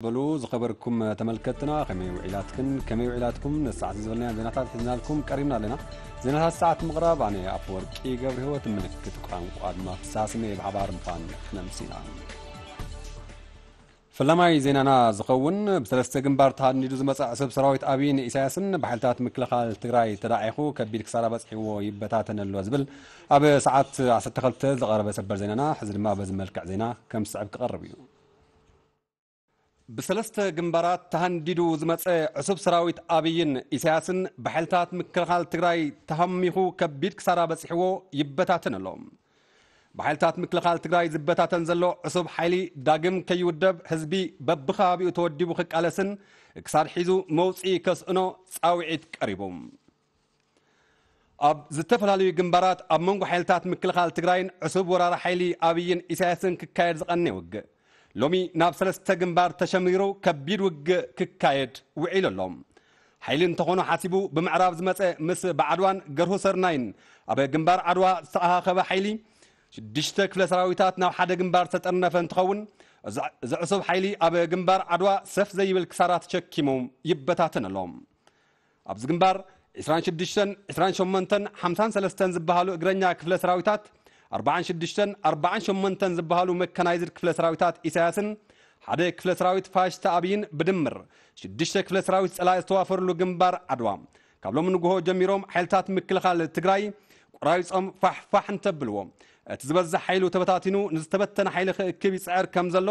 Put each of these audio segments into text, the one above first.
በሉ ዝኸበርኩም ተመልከትና፣ ከመይ ውዒላትክን ከመይ ውዒላትኩም? ንሰዓት ዝበልና ዜናታት ሒዝናልኩም ቀሪብና ኣለና። ዜናታት ሰዓት ምቕራብ ኣነ ኣፈወርቂ ገብረ ህይወት፣ ምልክት ቋንቋ ድማ ፍሳስመ ብሓባር ምዃን ክነምሲና። ፈላማይ ዜናና ዝኸውን ብሰለስተ ግንባር ተሃንዲዱ ዝመጸ ዕሱብ ሰራዊት ኣብይን ኢሳያስን ብሓይልታት ምክልኻል ትግራይ ተዳዒኹ ከቢድ ክሳራ በጽሕዎ ይበታተን ኣሎ ዝብል ኣብ ሰዓት ዓሰርተ ክልተ ዝቐረበ ሰበር ዜናና፣ ሕዚ ድማ በዚ መልክዕ ዜና ከም ዝስዕብ ክቐርብ እዩ። ብሰለስተ ግንባራት ተሃንዲዱ ዝመጸ ዕሱብ ሰራዊት ኣብይን ኢሳያስን ብሓይልታት ምክልኻል ትግራይ ተሃሚኹ ከቢድ ክሳራ በጺሕዎ ይበታተን ኣሎ። ብሓይልታት ምክልኻል ትግራይ ዝበታተን ዘሎ ዕሱብ ሓይሊ ዳግም ከይውደብ ህዝቢ በብኸባቢኡ ተወዲቡ ክቃለስን ክሳድ ሒዙ መውፅኢ ከስእኖ ጻውዒት ቀሪቡ። ኣብ ዝተፈላለዩ ግንባራት ኣብ መንጎ ሓይልታት ምክልኻል ትግራይን ዕሱብ ወራሪ ሓይሊ ኣብይን ኢሳያስን ክካየድ ዝቐነየ ውግእ ሎሚ ናብ ሰለስተ ግንባር ተሸሚሩ ከቢድ ውግእ ክካየድ ውዒሉ ኣሎ። ሓይሊ እንተኾኖ ሓሲቡ ብምዕራብ ዝመጸ ምስ ባዕድዋን ገርሁ ሰርናይን ኣብ ግንባር ዓድዋ ዝተኣኻኸበ ሓይሊ ሽዱሽተ ክፍለ ሰራዊታት ናብ ሓደ ግንባር ዝተጠርነፈ እንትኸውን፣ እዚ ዕሱብ ሓይሊ ኣብ ግንባር ዓድዋ ሰፍ ዘይብል ክሳራ ተሸኪሙ ይበታተን ኣሎ። ኣብዚ ግንባር ዕስራን ሽዱሽተን፣ ዕስራን ሸሞንተን፣ ሓምሳን ሰለስተን ዝበሃሉ እግረኛ ክፍለ ሰራዊታት፣ ኣርባዓን ሽዱሽተን፣ ኣርባዓን ሸሞንተን ዝበሃሉ መካናይዝድ ክፍለ ሰራዊታት ኢሳያስን ሓደ ክፍለ ሰራዊት ፋሽስት ኣብይን ብድምር ሽዱሽተ ክፍለ ሰራዊት ጸላኢ ዝተዋፈርሉ ግንባር ዓድዋ፣ ካብ ሎሚ ንግሆ ጀሚሮም ሓይልታት ምክልኻል ትግራይ ቆራሪጾም ፋሕፋሕ እንተብልዎ፣ እቲ ዝበዝሕ ሓይሉ ተበታቲኑ ንዝተበተነ ሓይሊ ክእክብ ይጽዕር ከም ዘሎ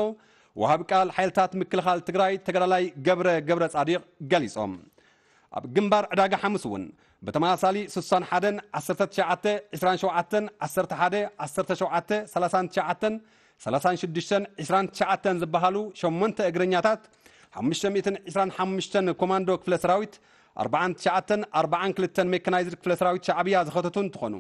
ወሃቢ ቃል ሓይልታት ምክልኻል ትግራይ ተጋዳላይ ገብረ ገብረ ጻዲቕ ገሊጾም። ኣብ ግንባር ዕዳጋ ሓሙስ እውን ብተመሳሳሊ ስሳን ሓደን፣ ዓሰርተ ትሽዓተ፣ ዕስራን ሸውዓተን፣ ዓሰርተ ሓደ፣ ዓሰርተ ሸውዓተ፣ ሰላሳን ትሽዓተን፣ ሰላሳን ሽዱሽተን፣ ዕስራን ትሽዓተን ዝበሃሉ ሸሞንተ እግረኛታት፣ ሓሙሽተ ሚእትን ዕስራን ሓሙሽተን ኮማንዶ ክፍለ ሰራዊት፣ ኣርባዓን ትሽዓተን ኣርባዓን ክልተን ሜካናይዝድ ክፍለ ሰራዊት ሻዕብያ ዝኸተቱ እንትኾኑ፣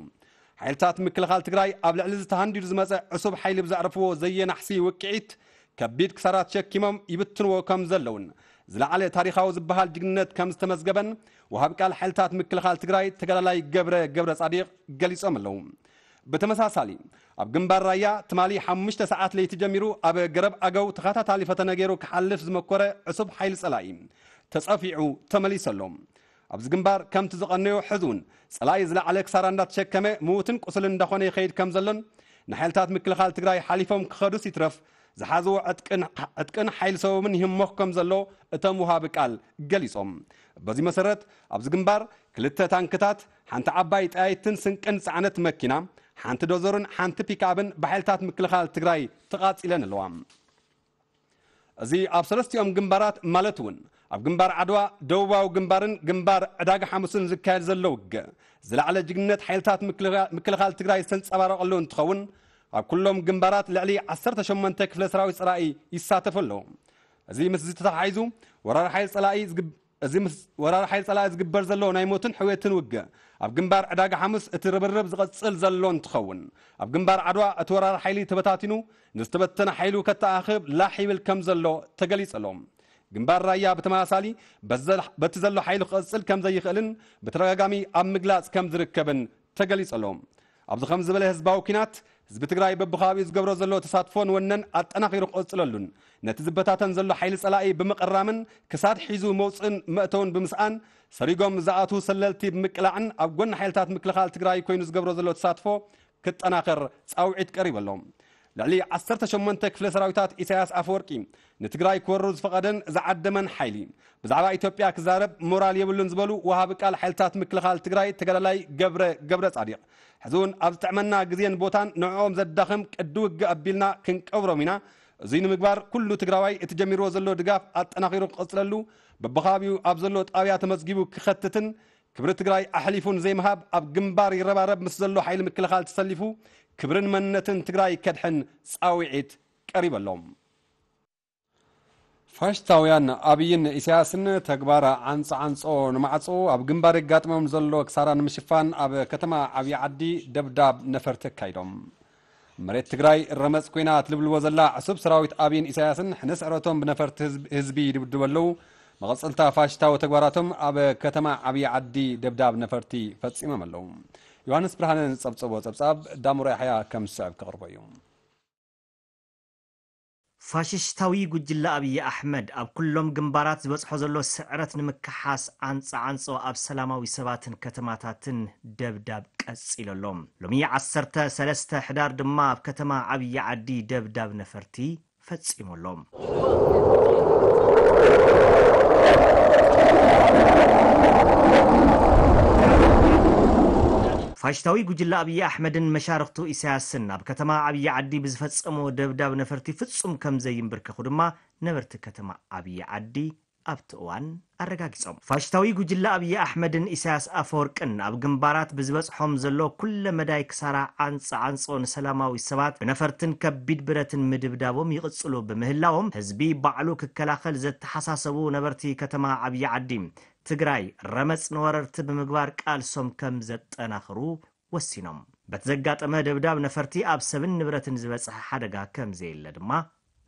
ሓይልታት ምክልኻል ትግራይ ኣብ ልዕሊ ዝተሃንዲዱ ዝመፀ ዕሱብ ሓይሊ ብዘዕረፍዎ ዘየናሕሲ ውቅዒት ከቢድ ክሳራ ተሸኪሞም ይብትንዎ ከም ዘለውን ዝለዓለ ታሪኻዊ ዝበሃል ጅግንነት ከም ዝተመዝገበን ወሃቢ ቃል ሓይልታት ምክልኻል ትግራይ ተጋዳላይ ገብረ ገብረ ጻዲቕ ገሊጾም ኣለዉ። ብተመሳሳሊ ኣብ ግንባር ራያ ትማሊ ሓሙሽተ ሰዓት ለይቲ ጀሚሩ ኣብ ገረብ ኣገው ተኸታታሊ ፈተነ ገይሩ ክሓልፍ ዝመኮረ ዕሱብ ሓይሊ ጸላኢ ተጸፊዑ ተመሊሱ ኣሎ። ኣብዚ ግንባር ከምቲ ዝቐነዮ ሕዚ እውን ጸላኢ ዝለዓለ ክሳራ እንዳተሸከመ ምዉትን ቁስልን እንዳኾነ ይኸይድ ከም ዘሎን ንሓይልታት ምክልኻል ትግራይ ሓሊፎም ክኸዱስ ይትረፍ ዝሓዝዎ ዕጥቅን ዕጥቅን ሓይሊ ሰበብን ይህሞኽ ከም ዘሎ እቶም ውሃቢ ቃል ገሊጾም። በዚ መሰረት ኣብዚ ግንባር ክልተ ታንክታት፣ ሓንቲ ዓባይ ጠያይትን ስንቅን ጸዓነት መኪና፣ ሓንቲ ዶዘርን ሓንቲ ፒክኣፕን ብሓይልታት ምክልኻል ትግራይ ተቓጺለን ኣለዋ። እዚ ኣብ ሰለስቲኦም ግንባራት ማለት እውን ኣብ ግንባር ዓድዋ፣ ደቡባዊ ግንባርን ግንባር ዕዳጋ ሓሙስን ዝካየድ ዘሎ ውግእ ዝለዓለ ጅግንነት ሓይልታት ምክልኻ-፣ ምክልኻል ትግራይ ዝተንጸባረቐሉ እንትኸውን፣ ኣብ ኩሎም ግንባራት ልዕሊ ዓሰርተ ሸሞንተ ክፍለ ሰራዊት ጸላኢ ይሳተፉ ኣለዉ። እዚ ምስዚ ተተሓሒዙ ወራሪ ሓይሊ ጸላኢ ዝግብ-፣ እዚ ምስ ወራሪ ሓይሊ ጸላኢ ዝግበር ዘሎ ናይ ሞትን ሕውየትን ውግእ ኣብ ግንባር ዕዳጋ ሓሙስ እቲ ርብርብ ዝቐጽል ዘሎ እንትኸውን፣ ኣብ ግንባር ዓድዋ እቲ ወራሪ ሓይሊ ተበታቲኑ ንዝተበተነ ሓይሉ ከተኣኻኽብ ላሕ ይብል ከም ዘሎ ተገሊጹ ኣሎ። ግንባር ራያ ብተመሳሳሊ በዘ-፣ በቲ ዘሎ ሓይሉ ክቐጽል ከም ዘይኽእልን ብተደጋጋሚ ኣብ ምግላጽ ከም ዝርከብን ተገሊጹ ኣሎ። ኣብዚ ከም ዝበለ ህዝባዊ ኲናት ህዝቢ ትግራይ በብኸባቢኡ ዝገብሮ ዘሎ ተሳትፎን ወነን ኣጠናኺሩ ክቕጽለሉን ነቲ ዝበታተን ዘሎ ሓይሊ ጸላኢ ብምቕራምን ክሳድ ሒዙ መውፅእን መእተውን ብምስኣን ሰሪጎም ዝኣትዉ ሰለልቲ ብምቅላዕን ኣብ ጎኒ ሓይልታት ምክልኻል ትግራይ ኮይኑ ዝገብሮ ዘሎ ተሳትፎ ክጠናኸር ጻውዒት ቀሪቡ ኣሎ። ልዕሊ ዓሰርተ ሸሞንተ ክፍለ ሰራዊታት ኢሳያስ ኣፈወርቂ ንትግራይ ክወሩ ዝፈቐደን ዝዓደመን ሓይሊ ብዛዕባ ኢትዮጵያ ክዛረብ ሞራል የብሉን ዝበሉ ወሃቢ ቃል ሓይልታት ምክልኻል ትግራይ ተጋዳላይ ገብረ ገብረ ጻዲቕ፣ ሕዚ እውን ኣብ ዝጥዕመና ግዜን ቦታን ንዕኦም ዘዳኽም ቅዲ ውግእ ኣቢልና ክንቀብሮም ኢና። እዙይ ንምግባር ኩሉ ትግራዋይ እቲ ጀሚርዎ ዘሎ ድጋፍ ኣጠናኺሩ ክቕፅለሉ፣ በብኸባቢኡ ኣብ ዘሎ ጣብያ ተመዝጊቡ ክኸትትን ክብሪ ትግራይ ኣሕሊፉ ንዘይምሃብ ኣብ ግንባር ይረባረብ ምስ ዘሎ ሓይሊ ምክልኻል ተሰሊፉ ክብርን መንነትን ትግራይ ከድሕን ጻውዒት ቀሪቡ ኣሎ። ፋሽስታውያን ኣብይን ኢሳያስን ተግባር ዓንጾ ዓንጾ ንማዕጾ ኣብ ግንባር የጋጥሞም ዘሎ ክሳራ ንምሽፋን ኣብ ከተማ ዓብዪ ዓዲ ደብዳብ ነፈርቲ ኣካይዶም። መሬት ትግራይ ረመጽ ኮይና ትልብልቦ ዘላ ዕሱብ ሰራዊት ኣብይን ኢሳያስን ሕነ ስዕረቶም ብነፈርቲ ህዝብ-፣ ህዝቢ ይድብድቡ ኣለዉ። መቐጸልታ ፋሽስታዊ ተግባራቶም ኣብ ከተማ ዓብዪ ዓዲ ደብዳብ ነፈርቲ ፈጺሞም ኣለዉ። ዮሃንስ ብርሃነ ዝጸብጸቦ ጸብጻብ ዳሙራ ያሕያ ከም ዝስዕብ ከቕርቦ እዩ። ፋሽስታዊ ጉጅለ ኣብይ ኣሕመድ ኣብ ኩሎም ግንባራት ዝበጽሖ ዘሎ ስዕረት ንምክሓስ ዓንጻዓንጾ ኣብ ሰላማዊ ሰባትን ከተማታትን ደብዳብ ቀጺሉ ኣሎ። ሎሚ ዓሰርተ ሰለስተ ሕዳር ድማ ኣብ ከተማ ዓብዪ ዓዲ ደብዳብ ነፈርቲ ፈጺሙ ኣሎ። ፋሽስታዊ ጉጅለ ኣብይ ኣሕመድን መሻርኽቱ ኢሳያስን ኣብ ከተማ ዓብዪ ዓዲ ብዝፈጸሞ ደብዳብ ነፈርቲ ፍጹም ከም ዘይንብርከኹ ድማ ነበርቲ ከተማ ዓብዪ ዓዲ ኣብቲ እዋን ኣረጋጊጾም። ፋሽስታዊ ጉጅለ ኣብይ ኣሕመድን ኢሳያስ ኣፈወርቅን ኣብ ግንባራት ብዝበጽሖም ዘሎ ኩለ መዳይ ክሳራ ዓንጻ ዓንጾ ንሰላማዊ ሰባት ብነፈርትን ከቢድ ብረትን ምድብዳቦም ይቕጽሉ ብምህላዎም ህዝቢ ባዕሉ ክከላኸል ዘተሓሳሰቡ ነበርቲ ከተማ ዓብዪ ዓዲ ትግራይ ረመጽ ንወረርቲ ብምግባር ቃልሶም ከም ዘጠናኽሩ ወሲኖም። በቲ ዘጋጠመ ደብዳብ ነፈርቲ ኣብ ሰብን ንብረትን ዝበጽሐ ሓደጋ ከም ዘየለ ድማ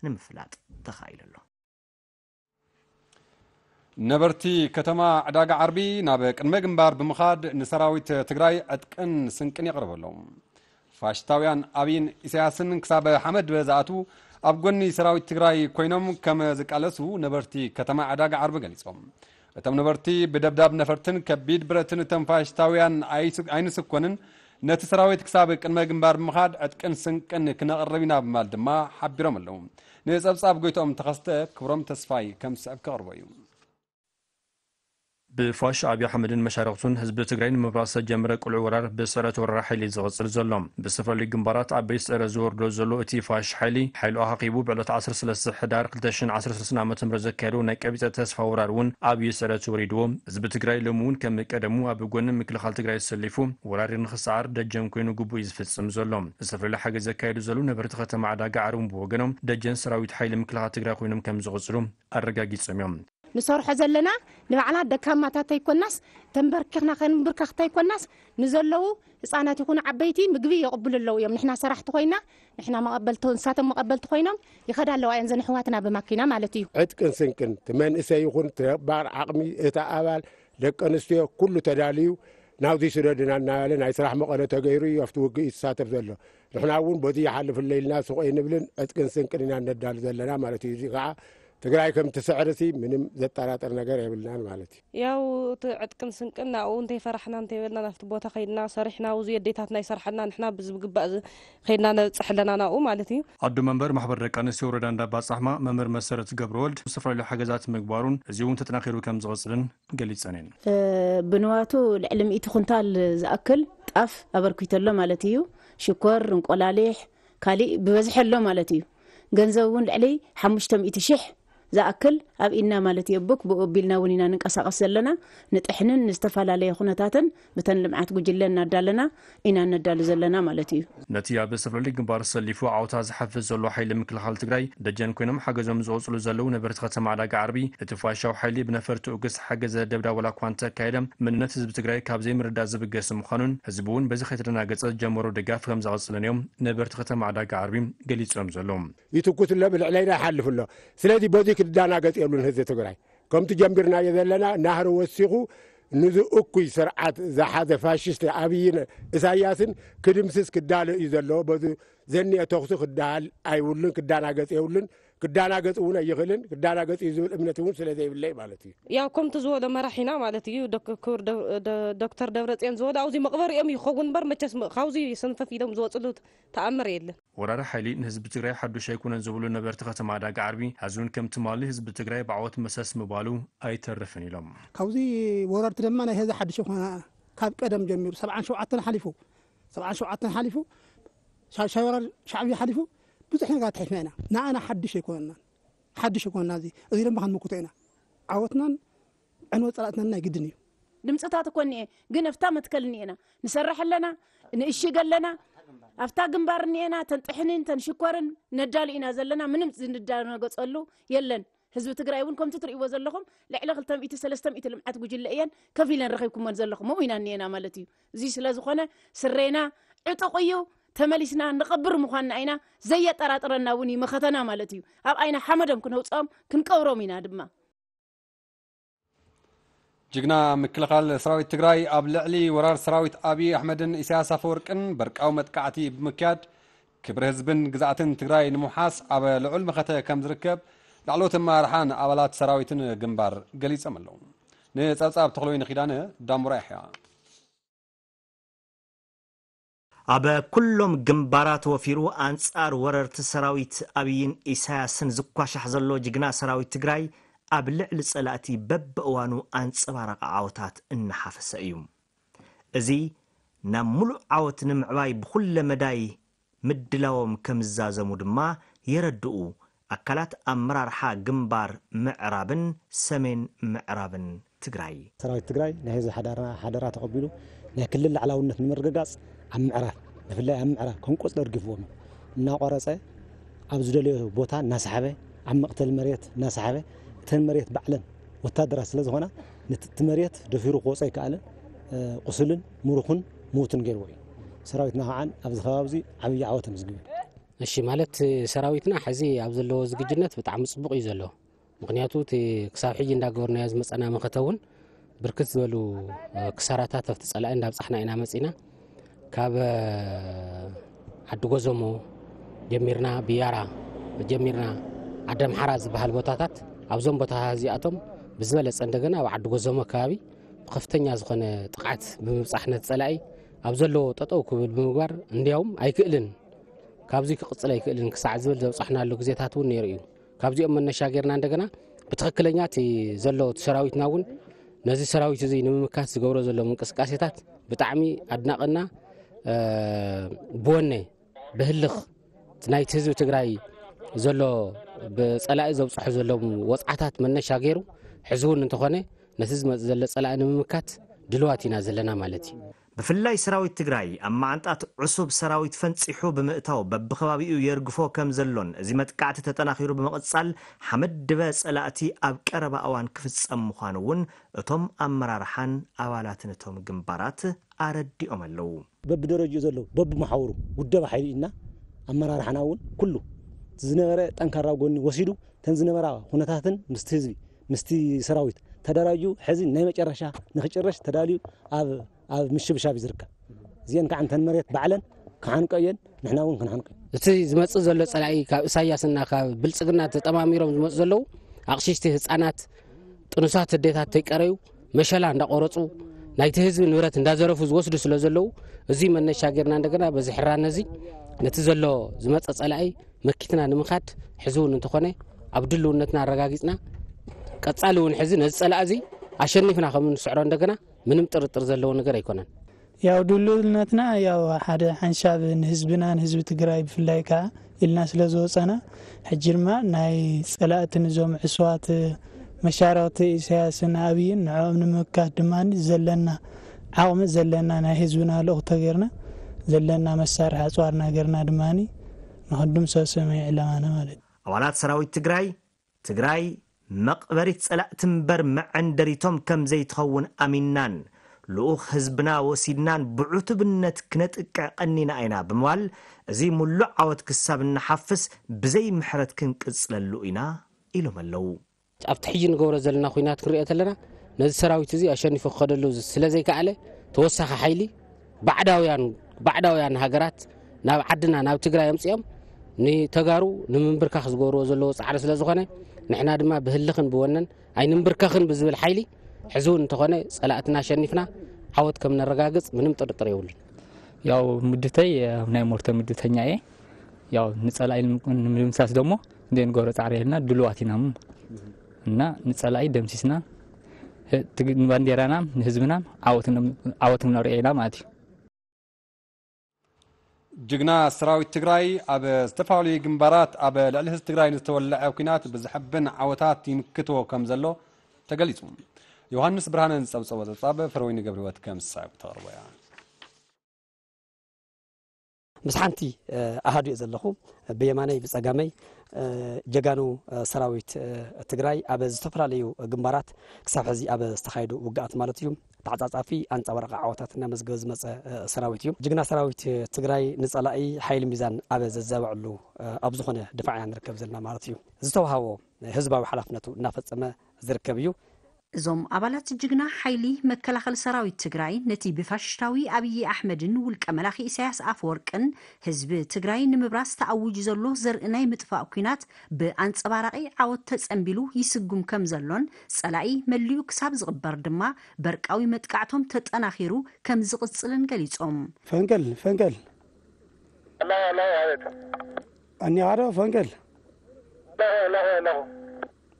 ንምፍላጥ ተኻኢሉ ኣሎ። ነበርቲ ከተማ ዕዳጋ ዓርቢ ናብ ቅድመ ግንባር ብምኻድ ንሰራዊት ትግራይ ዕጥቅን ስንቅን የቕርቡ ኣለዉ። ፋሽስታውያን ኣብይን ኢሳያስን ክሳብ ሓመድ ዝኣትዉ ኣብ ጎኒ ሰራዊት ትግራይ ኮይኖም ከም ዝቃለሱ ነበርቲ ከተማ ዕዳጋ ዓርቢ ገሊጾም። እቶም ነበርቲ ብደብዳብ ነፈርትን ከቢድ ብረትን እቶም ፋሽስታውያን ኣይስ-፣ ኣይንስኮንን፣ ነቲ ሰራዊት ክሳብ ቅድመ ግንባር ብምኻድ ዕጥቅን ስንቅን ክነቕርብ ኢና ብምባል ድማ ሓቢሮም ኣለዉ። ንጸብጻብ ጎይትኦም ተኸስተ ክብሮም ተስፋይ ከም ዝስዕብ ከቕርቦ እዩ። ብፋሽ ኣብይ ኣሕመድን መሻርኽቱን ህዝቢ ትግራይ ንምፍራስ ዝተጀመረ ቅሉዕ ወራር ብስዕረት ወራር ሓይሊ ዝቕጽል ዘሎ። ብዝተፈላለዩ ግንባራት ዓበይቲ ስዕረት ዝወርዶ ዘሎ እቲ ፋሽ ሓይሊ፣ ሓይሉ ኣኻኺቡ ብዕለት ዓሰርተ ሰለስተ ሕዳር ክልተ ሽሕን ዓሰርተ ሰለስተን ዓመተ ምህረት ዘካየዶ ናይ ቀቢጸ ተስፋ ወራር እውን ኣብይ ስዕረት ወሪድዎ። ህዝቢ ትግራይ ሎሚ እውን ከም ቀደሙ ኣብ ጎኒ ምክልኻል ትግራይ ተሰሊፉ ወራሪ ንኽሰዓር ደጀን ኮይኑ ግቡእ እዩ ዝፍጽም ዘሎ። ዝተፈላለዩ ሓገዝ ዘካየዱ ዘለዉ ነበርቲ ከተማ ዕዳጋ ዓርቢ ብወገኖም ደጀን ሰራዊት ሓይሊ ምክልኻል ትግራይ ኮይኖም ከም ዝቕጽሉ ኣረጋጊጾም እዮም። ንሰርሖ ዘለና ንባዕልና ደካማታት ኣይኮናስ፣ ተንበርኪኽና ከንብርከኽ ኣይኮናስ፣ ንዘለዉ ህፃናት ይኹኑ ዓበይቲ ምግቢ የቕብሉ ኣለዉ እዮም። ንሕና ሰራሕቲ ኮይና፣ ንሕና መቐበልቲ፣ ንሳቶም መቐበልቲ ኮይኖም ይኸዳ ኣለዋ እየን፣ ዘን ኣሕዋትና ብማኪና ማለት እዩ። ዕጥቅን ስንቅን፣ እቲ መንእሰይ ይኹን፣ እቲ ነባር ዓቕሚ፣ እቲ ኣባል፣ ደቂ ኣንስትዮ፣ ኩሉ ተዳልዩ ናብዚ ስደድና እናበለ ናይ ስራሕ መቐለ ተገይሩ እዩ ኣብቲ ውግእ ይሳተፍ ዘሎ። ንሕና እውን በዚ ይሓልፍለ ኢልና ስቕ ኣይንብልን፣ ዕጥቅን ስንቅን ኢና ነዳሉ ዘለና ማለት እዩ። እዚ ከዓ ትግራይ ከም ትስዕርሲ ምንም ዘጠራጥር ነገር የብልናን ማለት እዩ። ያው እቲ ዕጥቅን ስንቅን ናብኡ እንተይፈራሕና እንተይበልና ናብቲ ቦታ ከይድና ሰሪሕና፣ ኣብዚ ኣዴታትና ይሰርሓልና፣ ንሕና ብዝግባእ ዝ-፣ ከይድና ነብፅሕ ኣለና ናብኡ ማለት እዩ። ኣዶ መንበር ማሕበር ደቂ ኣንስትዮ ወረዳ እንዳባጻሕማ መምህር መሰረት ገብረወልድ ዝተፈላለዩ ሓገዛት ምግባሩን እዚ እውን ተጠናኺሩ ከም ዝቕጽልን ገሊጸን እየን። እ፣ ብንዋቱ ልዕሊ ሚእቲ ኩንታል ዝኣክል ጣፍ ኣበርኪቱ ኣሎ ማለት እዩ። ሽኮር፣ እንቆላሊሕ፣ ካሊእ ብበዝሒ ኣሎ ማለት እዩ። ገንዘብ እውን ልዕሊ ሓሙሽተ ሚእቲ ሽሕ ዝኣክል ኣብ ኢድና ማለት እዩ። ቡክ ብኡ ኣቢልና እውን ኢና ንንቀሳቐስ ዘለና። ንጥሕንን ንዝተፈላለየ ኩነታትን ብተን ልምዓት ጉጅለ እናዳለና ኢና ነዳሉ ዘለና ማለት እዩ። ነቲ ኣብ ዝተፈላለዩ ግንባር ሰሊፉ ዓወታት ዝሓፍስ ዘሎ ሓይሊ ምክልኻል ትግራይ ደጀን ኮይኖም ሓገዞም ዝቐጽሉ ዘለዉ ነበርቲ ከተማ ዕዳጋ ዓርቢ፣ እቲ ፋሽስታዊ ሓይሊ ብነፈርቲ ኡግስ ሓገዘ ደብዳብ ዋላ እኳ እንተካየደ፣ መንነት ህዝቢ ትግራይ ካብ ዘይምርዳእ ዝብገስ ምዃኑን ህዝቢ እውን በዚ ከይተደናገጸ ዝጀመሮ ድጋፍ ከም ዘቐጽልን እዮም ነበርቲ ከተማ ዕዳጋ ዓርቢ ገሊጾም ዘለዉ። ይትኩስ ኣሎ፣ ብልዕለይና ይሓልፍ ኣሎ። ስለዚ በዚ ክዳናገጽ የብሉን ህዝቢ ትግራይ። ከምቲ ጀምቢርናዮ ዘለና ናህሪ ወሲኹ ንዚ እኩይ ስርዓት ዝሓዘ ፋሽስት ኣብይን ኢሳያስን ክድምስስ ክዳሎ እዩ ዘለዎ። በዚ ዘኒአ ተኹሲ ክዳሃል ኣይብሉን፣ ክዳናገጽ የብሉን። ክዳናገጽ እውን ኣይኽእልን። ክዳናገጽ እዩ ዝብል እምነት እውን ስለ ዘይብለይ ማለት እዩ። ያው ከምቲ ዝበሎ መራሒና ማለት እዩ፣ ዶክ-፣ ክቡር ዶ-፣ ዶ-፣ ዶክተር ደብረጽዮን ዝበሎ ኣብዚ መቕበሪኦም ይኸውን እምበር መቸስ ም-፣ ካብዚ ሰንፈፍ ኢሎም ዝወፅሉ ተኣምር የለን። ወራሪ ሓይሊ ንህዝቢ ትግራይ ሓዱሽ ኣይኮነን ዝብሉ ነበርቲ ከተማ ዕዳጋ ዓርቢ፣ ሐዚ እውን ከም ትማሊ ህዝቢ ትግራይ ብዓወት መሰስ ምባሉ ኣይተርፍን ኢሎም። ካብዚ ወረርቲ ድማ ናይ ሐዚ ሓዱሽ ኣይኮነ፣ ካብ ቀደም ጀሚሩ ሰብዓን ሸውዓተን ሓሊፉ፣ ሰብዓን ሸውዓተን ሓሊፉ፣ ሻ-፣ ሻ-፣ ወራር ሻዕብያ ሓሊፉ፣ ብዙሕ ነገር ኣትሒፍና ኢና። ንኣና ሓዱሽ ኣይኮነናን፣ ሓዱሽ ኣይኮነና። እዚ፣ እዚ ድማ ክንምክቶ ኢና። ዓወትናን ዕንወት ጸላእትናን ናይ ግድን እዩ። ድምፅታት እኮ እኒኤ፣ ግን ኣብታ መትከል እኒኤና። ንሰርሕ ኣለና፣ ንእሽግ ኣለና፣ ኣብታ ግንባር እኒኤና፣ ተን ጥሕንን ተን ሽኮርን ነዳሉ ኢና ዘለና። ምንም ዝንዳነገፀሉ የለን። ህዝቢ ትግራይ እውን ከምቲ ትርእይዎ ዘለኹም ልዕሊ ክልተ ሚእቲ ሰለስተ ሚእቲ ልምዓት ጉጅለ እየን ከፊለን ረኺብኩመን ዘለኹም። ኣብኡ ኢና እኒኤና ማለት እዩ። እዚ ስለ ዝኾነ ስሬና ዕጡቕ እዩ፣ ተመሊስና ንቐብር ምዃንና ኢና፣ ዘየጠራጥረና እውን እዩ መኸተና ማለት እዩ። ኣብ ዓይና ሓመዶም ክነውፅኦም ክንቀብሮም ኢና ድማ። ጅግና ምክልኻል ሰራዊት ትግራይ ኣብ ልዕሊ ወራር ሰራዊት ኣብይ ኣሕመድን ኢሳያስ ኣፈወርቅን በርቃዊ መጥቃዕቲ ብምክያድ ክብሪ ህዝብን ግዝኣትን ትግራይ ንምውሓስ ኣብ ልዑል መኸተ ከም ዝርከብ ላዕለዎት ኣመራርሓን ኣባላት ሰራዊትን ግንባር ገሊጾም ኣለዉ። ንጸብጻብ ተኽለወይኒ ኪዳነ፣ ዳምቡራ ያሕያ። ኣብ ኩሎም ግንባራት ወፊሩ ኣንጻር ወረርቲ ሰራዊት ኣብይን ኢሳያስን ዝኳሻሕ ዘሎ ጅግና ሰራዊት ትግራይ፣ ኣብ ልዕሊ ጸላእቲ በብእዋኑ ኣንጸባራቒ ዓወታት እናሓፈሰ እዩ። እዚ ናብ ምሉእ ዓወት ንምዕባይ ብኹለ መዳይ ምድላዎም ከም ዝዛዘሙ ድማ የረድኡ ኣካላት ኣመራርሓ ግንባር ምዕራብን ሰሜን ምዕራብን ትግራይ። ሰራዊት ትግራይ ናይ ህዝቢ ሓዳራ፣ ሓደራ ተቐቢሉ ናይ ክልል ላዕላውነት ንምርግጋጽ ኣብ ምዕራብ፣ ብፍላይ ኣብ ምዕራብ ከንቆጽሎ ደርጊፍዎም እዩ። እናቆረጸ ኣብ ዝደለዮ ቦታ እናሰሓበ፣ ኣብ መቕተሊ መሬት እናሰሓበ፣ እተን መሬት ባዕለን ወታደራት ስለ ዝኾና፣ ነቲ እቲ መሬት ደፊሩ ክወጾ ኣይከኣለን። እ፣ ቁሱልን ምሩኹን ምዉትን ገይርዎ እዩ። ሰራዊትና ከዓን ኣብዚ ከባቢ እዚ ዓብዪ ዓወት ኣመዝጊቡ እዩ። እሺ፣ ማለት ሰራዊትና ሕዚ ኣብ ዘለዎ ዝግጅነት ብጣዕሚ ጽቡቕ እዩ ዘሎ። ምኽንያቱ እቲ ክሳብ ሕጂ እንዳገበርናዮ ዝመጸና መኸተ እውን ብርክት ዝበሉ፣ እ፣ ክሳራታት ኣብቲ ጸላኢ እንዳብጻሕና ኢና መጺና። ካብ፣ እ፣ ዓዲ ጎዘሞ ጀሚርና፣ ብያራ ጀሚርና፣ ዓዲ ኣምሓራ ዝበሃል ቦታታት፣ ኣብዞም ቦታታት እዚኣቶም ብዝበለጸ እንደገና ኣብ ዓዲ ጎዘሞ ከባቢ ብከፍተኛ ዝኾነ ጥቕዓት ብምብጻሕ ነቲ ጸላኢ ኣብ ዘለዎ ጠጠው ክብል ብምግባር፣ እንዲያውም ኣይክእልን፣ ካብዚ ክቕጽል ኣይክእልን ክሳዕ ዝብል ዘብጻሕናሉ ግዜታት እውን ነይሩ እዩ። ካብዚኦም መነሻ ጌርና እንደገና ብትኽክለኛ እቲ ዘሎ እቲ ሰራዊትና እውን ነዚ ሰራዊት እዚ ንምምካት ዝገብሮ ዘሎ ምንቅስቃሴታት ብጣዕሚ ኣድናቕና፣ እ፣ ብወነ ብህልኽ እቲ ናይቲ ህዝቢ ትግራይ ዘሎ ብጸላኢ ዘብጽሑ ዘለዉ ወጽዓታት መነሻ ገይሩ፣ ሕዚ እውን እንተኾነ ነቲ ዝመጽእ ዘሎ ጸላኢ ንምምካት ድልዋት ኢና ዘለና ማለት እዩ። ብፍላይ ሰራዊት ትግራይ ኣብ መዓንጣት ዕሱብ ሰራዊት ፈንጺሑ ብምእታው በብኸባቢኡ የርግፎ ከም ዘሎን እዚ መጥቃዕቲ ተጠናኺሩ ብምቕጻል ሓመድ ድበ ጸላእቲ ኣብ ቀረባ እዋን ክፍጸም ምዃኑ እውን እቶም ኣመራርሓን ኣባላትን እቶም ግንባራት ኣረዲኦም ኣለዉ። በብደረጅኡ ዘለዉ በብመሓውሩ ውደባ ሓይሊ ኢልና ኣመራርሓና እውን ኩሉ ዝነበረ ጠንካራ ጎኒ ወሲዱ እተን ዝነበራ ኩነታትን ምስቲ ህዝቢ ምስቲ ሰራዊት ተደራጅዩ ሕዚ ናይ መጨረሻ ንክጭረሽ ተዳልዩ ኣብ ኣብ ምሽብሻብ እዩ ዝርከብ። እዚአን ከዓ እንተን መሬት ባዕለን ክሓንቀ እየን፣ ንሕና እውን ክንሓንቀ እዩ። እቲ ዝመጽእ ዘሎ ጸላኢ ካብ ኢሳያስና ካብ ብልጽግና ተጠማሚሮም ዝመጹ ዘለዉ ኣቕሽሽቲ፣ ህጻናት፣ ጥኑሳት ኣዴታት ተይቀረዩ መሸላ እንዳቆረጹ ናይቲ ህዝቢ ንብረት እንዳዘረፉ ዝወስዱ ስለ ዘለዉ፣ እዚ መነሻ ጌርና እንደገና በዚ ሕራነ እዚ ነቲ ዘሎ ዝመጸ ጸላኢ መኪትና ንምኻድ ሕዚ እውን እንተኾነ ኣብ ድልውነትና ኣረጋጊጽና ቀጻሊ እውን ሕዚ ነዚ ጸላኢ እዚ ኣሸኒፍና ከም እንስዕሮ እንደገና ምንም ጥርጥር ዘለዎ ነገር ኣይኮነን። ያው ድልውነትና ያው ሓደ ሓንሻብ ንህዝብና፣ ንህዝቢ ትግራይ ብፍላይ ከዓ ኢልና ስለ ዝወፀና፣ ሕጂ ድማ ናይ ፀላእቲ ንዞም ዕሱባት መሻርኽቲ ኢሳያስን ኣብይን ንዕኦም ንምምካት ድማ ዘለና ዓቕሚ፣ ዘለና ናይ ህዝብና ልኡኽ ተገይርና፣ ዘለና መሳርሒ ኣፅዋርና ገይርና ድማ ንክንድምሰሶም እዩ ዕላማና ማለት እዩ። ኣባላት ሰራዊት ትግራይ፣ ትግራይ መቕበሪት ጸላእቲ እምበር መዐንደሪቶም ከም ዘይትኸውን ኣሚንናን፣ ልኡኽ ህዝብና ወሲድናን ብዕቱብነት ክነጥቅዕ ቀኒና ኢና ብምባል፣ እዚ ምሉእ ዓወት ክሳብ እንሓፍስ ብዘይ ምሕረት ክንቅጽለሉ ኢና ኢሎም ኣለዉ። ኣብቲ ሕጂ ንገብሮ ዘለና ኲናት ክንሪኦ ተለና፣ ነዚ ሰራዊት እዚ ኣሸኒፉ ክኸደሉ ስለ ዘይከኣለ፣ ተወሳኺ ሓይሊ ባዕዳውያን፣ ባዕዳውያን ሃገራት ናብ ዓድና፣ ናብ ትግራይ ኣምጺኦም ንተጋሩ ንምንብርካኽ ዝገብርዎ ዘለዉ ጻዕሪ ስለ ዝኾነ፣ ንሕና ድማ ብህልኽን ብወነን ኣይንንብርከኽን ብዝብል ሓይሊ፣ ሕዚ እውን እንተኾነ ጸላእትና ኣሸኒፍና ዓወት ከም ነረጋግጽ ምንም ጥርጥር የብሉን። ያው ምድተይ፣ ያው ናይ ሞርተ ምድተኛ እየ። ያው ንጸላኢ ንምድምሳስ ደሞ እንደ ንገብሮ ጻዕሪ የልና ድልዋት ኢና እሞ። እና ንጸላኢ ደምሲስና፣ ህ-፣ ትግ-፣ ንባንዴራና፣ ንህዝብና ዓወት ን-፣ ዓወት ነርእዮ ኢና ማለት እዩ። ጅግና ሰራዊት ትግራይ ኣብ ዝተፈላለዩ ግንባራት ኣብ ልዕሊ ህዝቢ ትግራይ ንዝተወለዐ ኲናት ብዘሐብን ዓወታት ይምክትዎ ከም ዘሎ ተገሊጹ። ዮሃንስ ብርሃነ ዝጸብጸቦ ጸብጻብ ፍረወይኒ ገብረህይወት ከም ሳብ ተቕርቦ እያ። ምስ ሓንቲ፣ እ፣ ኣሃዱ እየ ዘለኹ። ብየማነይ ብጸጋመይ፣ እ፣ ጀጋኑ፣ እ፣ ሰራዊት፣ እ፣ ትግራይ ኣብ ዝተፈላለዩ ግንባራት ክሳብ ሕዚ ኣብ ዝተኻየዱ ውግኣት ማለት እዩ ተዓጻጻፊ ኣንጻባራቂ ዓወታት እናመዝገበ ዝመጸ፣ እ፣ ሰራዊት እዩ። ጅግና ሰራዊት ትግራይ ንጸላኢ ሓይሊ ሚዛን ኣብ ዘዛብዐሉ፣ እ፣ ኣብ ዝኾነ ድፋዕ ኢና ንርከብ ዘለና ማለት እዩ። ዝተዋሃቦ ህዝባዊ ሓላፍነቱ እናፈጸመ ዝርከብ እዩ። እዞም ኣባላት ጅግና ሓይሊ መከላኸሊ ሰራዊት ትግራይ ነቲ ብፋሽስታዊ ኣብዪ ኣሕመድን ውልቀ መላኺ ኢሳያስ ኣፈወርቅን ህዝቢ ትግራይ ንምብራስ ተኣዊጁ ዘሎ ዘርኢ ናይ ምጥፋእ ኲናት ብኣንጸባራቒ ዓወት ተጸንቢሉ ይስጉም ከም ዘሎን ጸላኢ መሊኡ ክሳብ ዝቕበር ድማ በርቃዊ መጥቃዕቶም ተጠናኺሩ ከም ዝቕጽልን ገሊጾም። ፈንቅል ፈንቅል ኣለኹ ኣለኹ ኣቤት እኒኻ ዶ ፈንቅል? ኣለኹ ኣለኹ ኣለኹ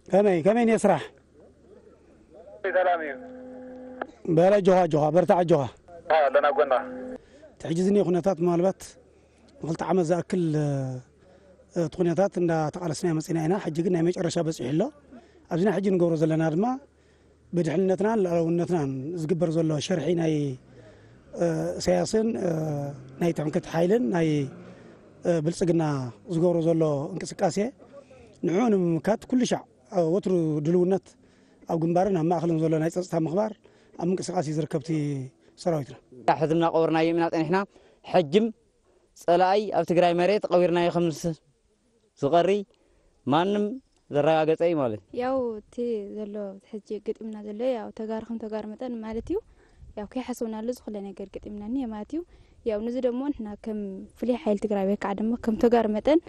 ከመይ ከመይ እኒኦ ስራሕ? ሰላም እዩ በል ኣጆኻ ኣጆኻ በርታዕ ኣጆኻ። ኣለና ጎና እቲ ሕጂ ዝኒኦ ኩነታት ምናልባት ንክልተ ዓመት ዝኣክል እቲ ኩነታት እንዳተቓለስና መፂና ኢና። ሕጂ ግን ናይ መጨረሻ በፂሑ ኣሎ። ኣብዚ ናይ ሕጂ ንገብሮ ዘለና ድማ ብድሕንነትናን ልኣላውነትናን ዝግበር ዘሎ ሸርሒ ናይ እሰያስን ናይ ትምክሕቲ ሓይልን ናይ ብልፅግና ዝገብሮ ዘሎ እንቅስቃሴ ንዕኡ ንምምካት ኩሉ ሻዕ ወትሩ ድልውነት ኣብ ግንባርን ኣብ ማእኸልን ዘሎ ናይ ፀፅታ ምኽባር ኣብ ምንቅስቃስ እዩ ዝርከብ እቲ ሰራዊትና። ሕዚ እናቐበርናዮም ኢና ፀኒሕና። ሕጅም ፀላኢ ኣብ ትግራይ መሬት ቀቢርናዮ ከም ዝቐሪ ማንም ዘረጋገፀ እዩ ማለት እዩ። ያው እቲ ዘሎ ሕጂ ገጢምና ዘሎ ያው ተጋሩ ከም ተጋሩ መጠን ማለት እዩ ያው ከይሓሰብናሉ ዝኹለ ነገር ገጢምና እኒሀ ማለት እዩ። ያው ንዚ ደሞ ንሕና ከም ፍሉይ ሓይሊ ትግራይ ወይ ከዓ ደሞ ከም ተጋሩ መጠን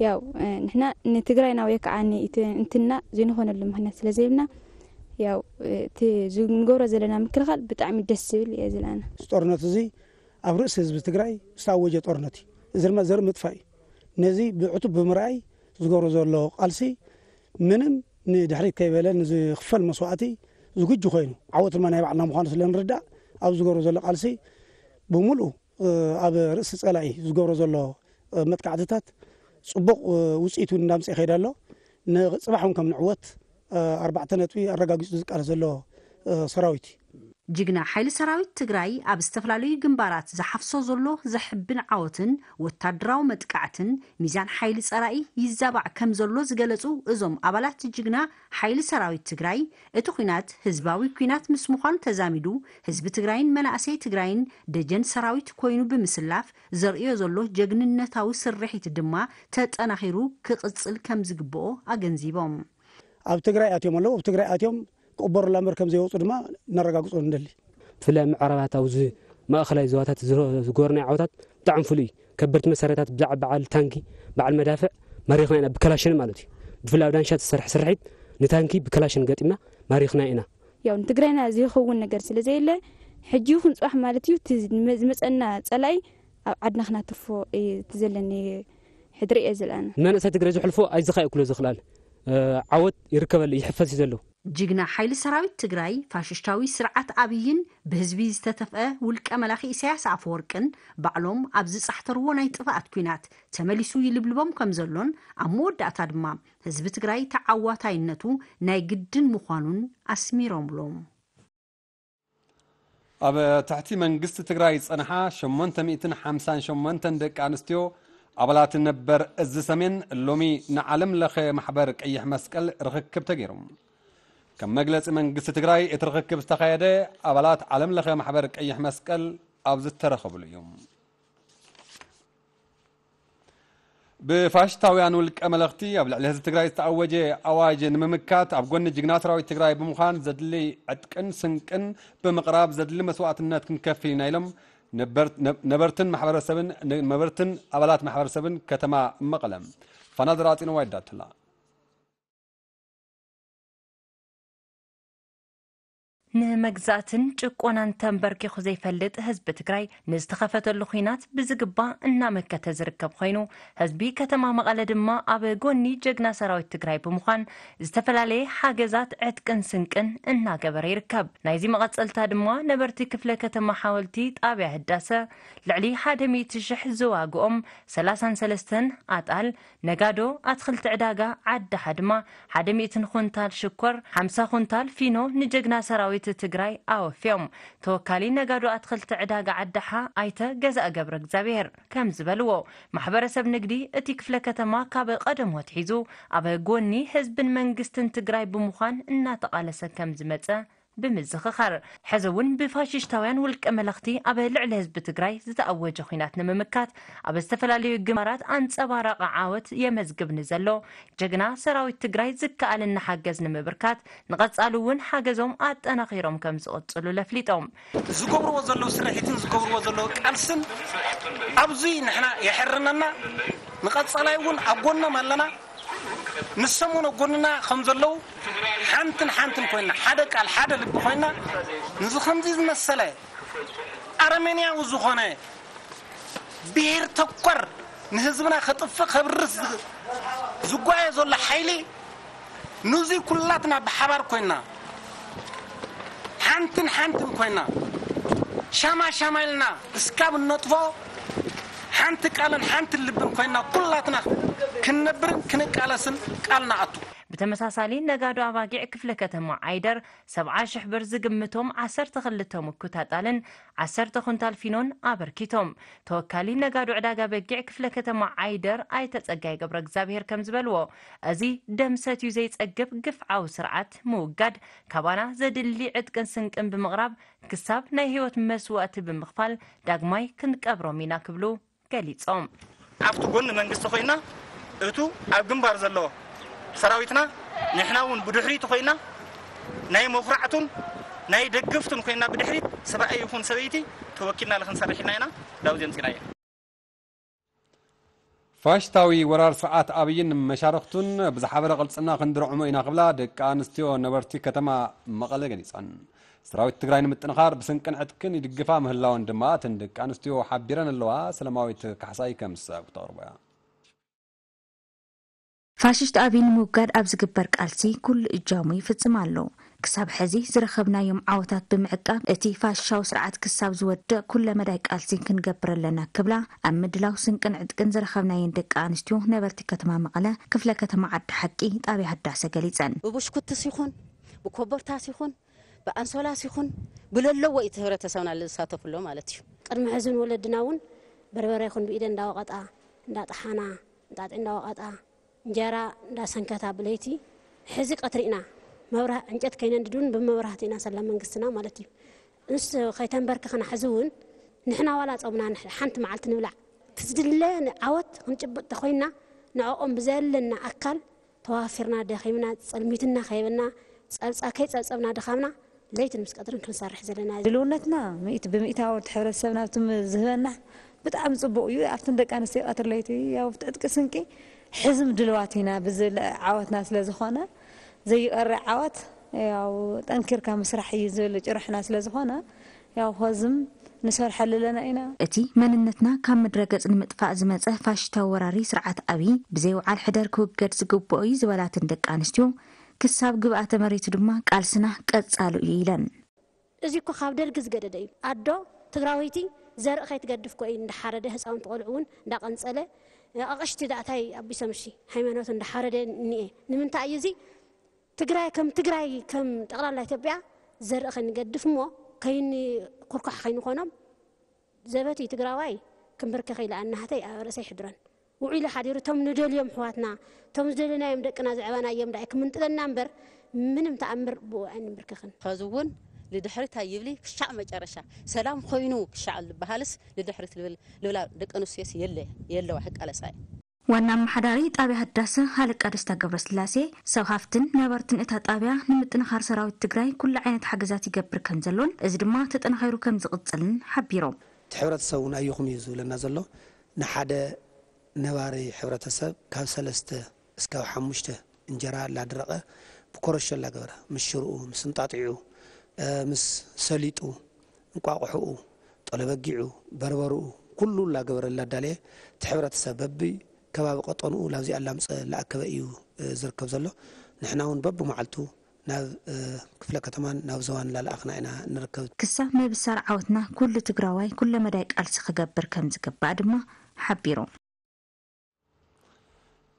ያው ንሕና ንትግራይና ወይ ከዓ ንእንትና ዘይንኾነሉ ምክንያት ስለ ዘይብልና ያው እቲ ንገብሮ ዘለና ምክልኻል ብጣዕሚ ደስ ዝብል እየ ዝለኣና። እዚ ጦርነት እዚ ኣብ ርእሲ ህዝቢ ትግራይ ዝተኣወጀ ጦርነት እዩ። እዚ ድማ ዘርኢ ምጥፋእ እዩ። ነዚ ብዕቱብ ብምርኣይ ዝገብሮ ዘሎ ቃልሲ ምንም ንድሕሪት ከይበለ ንዝኽፈል መስዋእቲ ዝግጁ ኮይኑ ዓወት ድማ ናይ ባዕልና ምዃኑ ስለ ንርዳእ ኣብ ዝገብሮ ዘሎ ቃልሲ ብምሉእ ኣብ ርእሲ ጸላኢ ዝገብሮ ዘሎ መጥቃዕትታት ጽቡቕ ውፅኢት እውን እንዳምፅእ ይኸይድ ኣሎ። ንፅባሕ እውን ከም ንዕወት ኣርባዕተ ነጥቢ ኣረጋጊፁ ዝቃለስ ዘሎ ሰራዊት እዩ። ጅግና ሓይሊ ሰራዊት ትግራይ ኣብ ዝተፈላለዩ ግንባራት ዝሓፍሶ ዘሎ ዘሕብን ዓወትን ወታደራዊ መጥቃዕትን ሚዛን ሓይሊ ጸላኢ ይዛባዕ ከም ዘሎ ዝገለጹ እዞም ኣባላት ጅግና ሓይሊ ሰራዊት ትግራይ እቲ ኲናት ህዝባዊ ኲናት ምስ ምዃኑ ተዛሚዱ ህዝቢ ትግራይን መናእሰይ ትግራይን ደጀን ሰራዊት ኮይኑ ብምስላፍ ዘርእዮ ዘሎ ጀግንነታዊ ስርሒት ድማ ተጠናኺሩ ክቕፅል ከም ዝግብኦ ኣገንዚቦም። ኣብ ትግራይ ኣትዮም ኣለዉ። ኣብ ትግራይ ኣትዮም ክቕበሩላ እምበር ከም ዘይወፁ ድማ ነረጋግፆ ንደሊ። ብፍላይ ኣብ ምዕራባት ኣብዚ ማእኸላይ ዞባታት ዝገበርናዮ ዓወታት ብጣዕሚ ፍሉይ እዩ። ከበድቲ መሳርያታት ብዛዕባ በዓል ታንኪ፣ በዓል መዳፍዕ ማሪኽና ኢና ብከላሽን ማለት እዩ። ብፍላይ ኣብ ዳንሻ ዝተሰርሐ ስርሒት ንታንኪ ብከላሽን ገጢምና ማሪኽና ኢና። ያው ንትግራይና ዘይኸውን ነገር ስለ ዘየለ ሕጂ ይኹን ፅባሕ ማለት እዩ እቲ ዝመ- ዝመፀና ፀላኢ ኣብ ዓድና ክናተርፎ እዩ እቲ ዘለኒ ሕድሪ እየ ዝለኣና። ንመንእሰይ ትግራይ ዘሕልፎ ኣይዝኻ እዩ ክሎ ዝኽላል ዓወት ይርከበሉ ይሕፈስ እዩ ዘሎ። ጅግና ሓይሊ ሰራዊት ትግራይ ፋሽሽታዊ ስርዓት ኣብይን ብህዝቢ ዝተተፍአ ውልቀ መላኺ ኢሳያስ ኣፈወርቅን ባዕሎም ኣብ ዝጻሕተርዎ ናይ ጥፍኣት ኲናት ተመሊሱ ይልብልቦም ከም ዘሎን ኣብ መወዳእታ ድማ ህዝቢ ትግራይ ተዓዋታይነቱ ናይ ግድን ምዃኑን ኣስሚሮምሎም። ኣብ ትሕቲ መንግስቲ ትግራይ ዝጸንሓ ሸሞንተ ሚእትን ሓምሳን ሸሞንተን ደቂ ኣንስትዮ ኣባላት ነበር እዚ ሰሜን ሎሚ ንዓለም ለኸ ማሕበር ቀይሕ መስቀል ርኽክብ ተገይሩ። ከም መግለጺ መንግስቲ ትግራይ እቲ ርኽክብ ዝተኻየደ ኣባላት ዓለም ለኸ ማሕበር ቀይሕ መስቀል ኣብ ዝተረኸብሉ እዩ። ብፋሽስታውያን ውልቀ መለኽቲ ኣብ ልዕሊ ህዝቢ ትግራይ ዝተኣወጀ ኣዋጅ ንምምካት ኣብ ጎኒ ጅግና ሰራዊት ትግራይ ብምዃን ዘድሊ ዕጥቅን ስንቅን ብምቕራብ ዘድሊ መስዋእትነት ክንከፍል ኢና ኢሎም ነበርትን ማሕበረሰብን ነበርትን ኣባላት ማሕበረሰብን ከተማ መቐለ ፋና ዘራፂንዋ ይዳትላ። ንመግዛእትን ጭቆናን ተንበርኪኹ ዘይፈልጥ ህዝቢ ትግራይ ንዝተኸፈተሉ ኹናት ብዝግባእ እናመከተ ዝርከብ ኮይኑ፣ ህዝቢ ከተማ መቐለ ድማ ኣብ ጎኒ ጀግና ሰራዊት ትግራይ ብምዃን ዝተፈላለየ ሓገዛት ዕጥቅን ስንቅን እናገበረ ይርከብ። ናይዚ መቐፀልታ ድማ ነበርቲ ክፍለ ከተማ ሓወልቲ ጣብያ ህዳሰ ልዕሊ ሓደ ሚእቲ ሽሕ ዝዋግኦም ሰላሳን ሰለስተን ኣጣል ነጋዶ ኣትኽልቲ ዕዳጋ ዓዲ ሓድማ ሓደ ሚእትን ኩንታል ሽኮር፣ ሓምሳ ኩንታል ፊኖ ንጀግና ሰራዊት ትግራይ ኣወፍዮም። ተወካሊ ነጋዶ ኣትኽልቲ ዕዳጋ ዓዲ ሓ ኣይተ ገዛእ ገብረ እግዚኣብሔር ከም ዝበልዎ፣ ማሕበረሰብ ንግዲ እቲ ክፍለ ከተማ ካብ ቀደሙ ኣትሒዙ ኣብ ጎኒ ህዝብን መንግስትን ትግራይ ብምዃን እናተቓለሰ ከም ዝመፀ ብምዝኽኻር፣ ሕዚ እውን ብፋሽሽታውያን ውልቀ መለኽቲ ኣብ ልዕሊ ህዝቢ ትግራይ ዝተኣወጀ ኹናት ንምምካት ኣብ ዝተፈላለዩ ግንባራት ኣንጸባራቒ ዓወት የመዝግብ ንዘሎ ጀግና ሰራዊት ትግራይ ዝከኣለና ሓገዝ ንምብርካት ንቐጻሉ እውን ሓገዞም ኣጠናኺሮም ከም ዝቕጽሉ ለፍሊጦም። ዝገብርዎ ዘለዉ ስርሒትን ዝገብርዎ ዘለዉ ቃልስን ኣብዚ ንሕና የሕርነና። ንቐጻላይ እውን ኣብ ጎኖም ኣለና። ንሶም እውን ኣብ ጎንና ከም ዘለዉ ሓንትን ሓንትን ኮይና፣ ሓደ ቃል ሓደ ልቢ ኮይና፣ ንዚ ከምዚ ዝመሰለ ኣረሜንያዊ ዝኾነ ብሄር ተኮር ንህዝብና ከጥፍእ ከብርስ ዝ-፣ ዝጓየ ዘሎ ሓይሊ፣ ንዙይ ኩላትና ብሓባር ኮይና፣ ሓንትን ሓንትን ኮይና፣ ሻማ ሻማ ኢልና እስካብ እነጥፎ፣ ሓንቲ ቃልን ሓንቲ ልብን ኮይና ኩላትና ክንነብርን ክንቃለስን ቃል ንኣቱ። ብተመሳሳሊ፣ ነጋዶ ኣባጊዕ ክፍለ ከተማ ዓይደር ሰብዓ ሽሕ ብር ዝግምቶም ዓሰርተ ክልተ ምኩት ኣጣልን ዓሰርተ ኩንታል ፊኖን ኣበርኪቶም። ተወካሊ ነጋዶ ዕዳጋ በጊዕ ክፍለ ከተማ ዓይደር ኣይተ ጸጋይ ገብረ እግዚኣብሔር ከም ዝበልዎ፣ እዚ ደም ሰትዩ ዘይጸግብ ግፍዓዊ ስርዓት ምውጋድ፣ ካባና ዘድሊ ዕጥቅን ስንቅን ብምቕራብ ክሳብ ናይ ህይወት መስዋእቲ ብምኽፋል ዳግማይ ክንቀብሮም ኢና ክብሉ ገሊጾም። ኣብቲ ጎኒ መንግስቲ ኮይና፣ እቱ ኣብ ግንባር ዘሎ ሰራዊትና፣ ንሕና እውን ብድሕሪቱ ኮይና፣ ናይ መኹራዕቱን ናይ ደግፍቱን ኮይና፣ ብድሕሪት ሰብኣይ ይኹን ሰበይቲ ተወኪልና ክንሰርሕ ኢልና ኢና ዳውዝ የምፂናዮ። ፋሽስታዊ ወራር ስርዓት ኣብይን መሻርኽቱን ብዝሓበረ ቅልጽና ክንድርዕሞ ኢና ክብላ ደቂ ኣንስትዮ ነበርቲ ከተማ መቐለ ገሊጸን። ሰራዊት ትግራይ ንምጥንኻር ብስንቅን ዕጥቅን ይድግፋ ምህላወን ድማ እተን ደቂ ኣንስትዮ ሓቢረን ኣለዋ። ሰላማዊት ካሕሳይ ከም ዝስዕብ ክተቕርቦ እያ። ፋሽስት ኣብይ ንምውጋድ ኣብ ዝግበር ቃልሲ ኩሉ እጃሙ ይፍጽም ኣሎ። ክሳብ ሕዚ ዝረኸብናዮም ዓወታት ብምዕቃብ፣ እቲ ፋሽሻዊ ስርዓት ክሳብ ዝወድቕ ኩለ መዳይ ቃልሲ ክንገብር ኣለና ክብላ፣ ኣብ ምድላው ስንቅን ዕጥቅን ዝረኸብናየን ደቂ ኣንስትዮ ነበርቲ ከተማ መቐለ፣ ክፍለ ከተማ ዓዲ ሓቂ፣ ጣብያ ህዳሰ ገሊጸን። ብቡሽኩትስ ይኹን፣ ብኮቦርታስ ይኹን፣ ብኣንሶላስ ይኹን፣ ብለለዎ እዩ እቲ ህብረተሰብና ዝሳተፍሎ ማለት እዩ። ቅድሚ ሕዚ እውን ወለድና እውን በርበረ ይኹን ብኢደን እንዳወቐጣ፣ እንዳጠሓና፣ እንጣጢዕ እንዳወቐጣ፣ እንጀራ እንዳሰንከታ ብለይቲ፣ ሕዚ ቀትሪ ኢና መብራ-፣ ዕንጨት ከይነንድድ እውን ብመብራህቲ ኢና ሰላ መንግስትና ማለት እዩ። ንሱ ከይተንበርክኽና ሕዚ እውን ንሕና ዋላ ጾምና ንሕ-፣ ሓንቲ መዓልቲ ንብላዕ፣ እቲ ዝድለ ዓወት ክንጭብጥ ተኾይንና ንዕኦም ብዘለና ኣካል ተዋፊርና ደኺምና ጸልሚትና ከይበልና ጸብጻ-፣ ከይጸብጸብና ድኻምና ለይትን ምስ ቀትርን ክንሰርሕ ዘለና። ድልውነትና ሚእቲ ብሚእታዊ እቲ ሕብረተሰብና ኣብቲ ም-፣ ዝህበና ብጣዕሚ ጽቡቕ እዩ። ኣብተን ደቂ ኣንስትዮ ቀትሪ ለይቲ ያው ዕጥቂ ስንቂ ሕዝም ድልዋት ኢና ብዝብል ዓወትና ስለ ዝኾነ ዘይቀርዕ ዓወት ያው ጠንኪርካ ምስራሕ እዩ ዝብል ጭርሕና ስለ ዝኾነ ያው ኸዝም ንሰርሐሉ ኣለና ኢና። እቲ መንነትና ካብ ምድረ ገጽ ንምጥፋእ ዝመጸ ፋሽስታዊ ወራሪ ስርዓት ኣብይ ብዘይ ውዓል ሕደር ክውገድ ዝግብኦ እዩ ዝበላተን ደቂ ኣንስትዮ፣ ክሳብ ግብኣተ መሬቱ ድማ ቃልስና ቀጻሉ እዩ ኢለን። እዚ እኮ ካብ ደርጊ ዝገደደ እዩ። ኣዶ ትግራወይቲ ዘርኢ ከይትገድፍ እኮ እዩ እንዳሓረደ፣ ህፃውንቲ ቆልዑ እውን እንዳቐንፀለ፣ ኣቕሽቲ ዳእታይ ኣቢሶም እሺ ሃይማኖት እንዳሓረደ እኒኤ። ንምንታይ እዩ እዚ? ትግራይ ከም ትግራይ፣ ከም ጠቕላላ ኢትዮጵያ ዘርኢ ከይንገድፍ እሞ ከይንኩርኳሕ ከይንኾኖም፣ ዘበት እዩ ትግራዋይ ክንብርከኽ ኢለ ኣናህተይ ኣብ ርእሰይ ሕድረን። ውዒሉ ሓዲሩ እቶም ንደልዮም ኣሕዋትና፣ እቶም ዝደለናዮም ደቅና ዘዕበናዮም ዳኣ ክምንጥለና እምበር፣ ምንም ተኣምር ብኡ ኣይንብርከኽን። ኸዚ እውን ልድሕሪት ኣይብሊ ክሻዕ መጨረሻ። ሰላም ኾይኑ ክሻዕ ዝበሃልስ ልድሕሪት ልብል፣ ልብላ ደቂ ኣንስትዮስ የለ-፣ የለዋ፣ ክቃለሳ እየ። ዋና ኣመሓዳሪ ጣብያ ህዳሰ ሃለቃ ደስታ ገብረስላሴ፣ ሰብ ሃፍትን ነበርትን እታ ጣብያ ንምጥንኻር ሰራዊት ትግራይ ኩሉ ዓይነት ሓገዛት ይገብር ከም ዘሎን እዚ ድማ ተጠናኺሩ ከም ዝቕጽልን ሓቢሮም። እቲ ሕብረተሰብ እውን ኣየኹም እዩ ዝብለና ዘሎ። ንሓደ ነባሪ ሕብረተሰብ ካብ ሰለስተ እስካብ ሓሙሽተ እንጀራ ላድረቐ ብኮረሾ ላገበረ ምስ ሽርኡ፣ ምስ እንጣጢዑ፣ እ፣ ምስ ሰሊጡ፣ እንቋቑሖኡ፣ ጠለበጊዑ፣ በርበርኡ፣ ኩሉ ላገበረ ላዳለየ እቲ ሕብረተሰብ በቢ ከባቢ ቀጠንኡ ላብዚኣ ላምፀ ላኣከበ እዩ፣ እ፣ ዝርከብ ዘሎ። ንሕና እውን በብመዓልቱ ናብ፣ እ፣ ክፍለ ከተማን ናብ ዞባን ላልኣኽና ኢና ንርከብ። ክሳብ ምብሳር ዓወትና ኩሉ ትግራዋይ ኩለ መዳይ ቃልሲ ክገብር ከም ዝግባእ ድማ ሓቢሮም።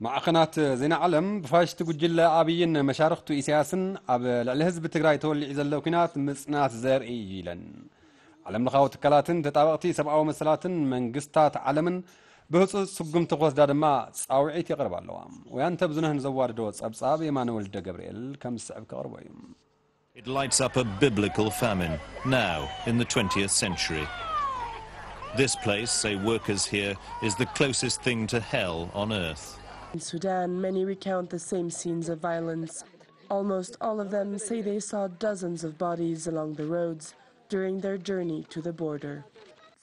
ማዕኸናት ዜና ዓለም ብፋሽስት ጉጅለ ኣብይን መሻርኽቱ ኢሳያስን ኣብ ልዕሊ ህዝቢ ትግራይ ተወሊዑ ዘሎ ኲናት ምጽናት ዘርኢ እዩ ኢለን። ዓለምለኻዊ ትካላትን ተጣበቕቲ ሰብኣዊ መሰላትን መንግስታት ዓለምን ብህጹጽ ስጉምቲ ክወስዳ ድማ ጻውዒት የቕርባ ኣለዋ። ወያንተ ብዙነህን ዘዋደዶ ጸብጻብ የማነ ወልደ ገብርኤል ከም ዝስዕብ ከቕርቦ እዩ። It lights up a biblical famine now in the twentieth century. This place, say workers here, is the closest thing to hell on earth. In Sudan, many recount the same scenes of violence. Almost all of them say they saw dozens of bodies along the roads during their journey to the border.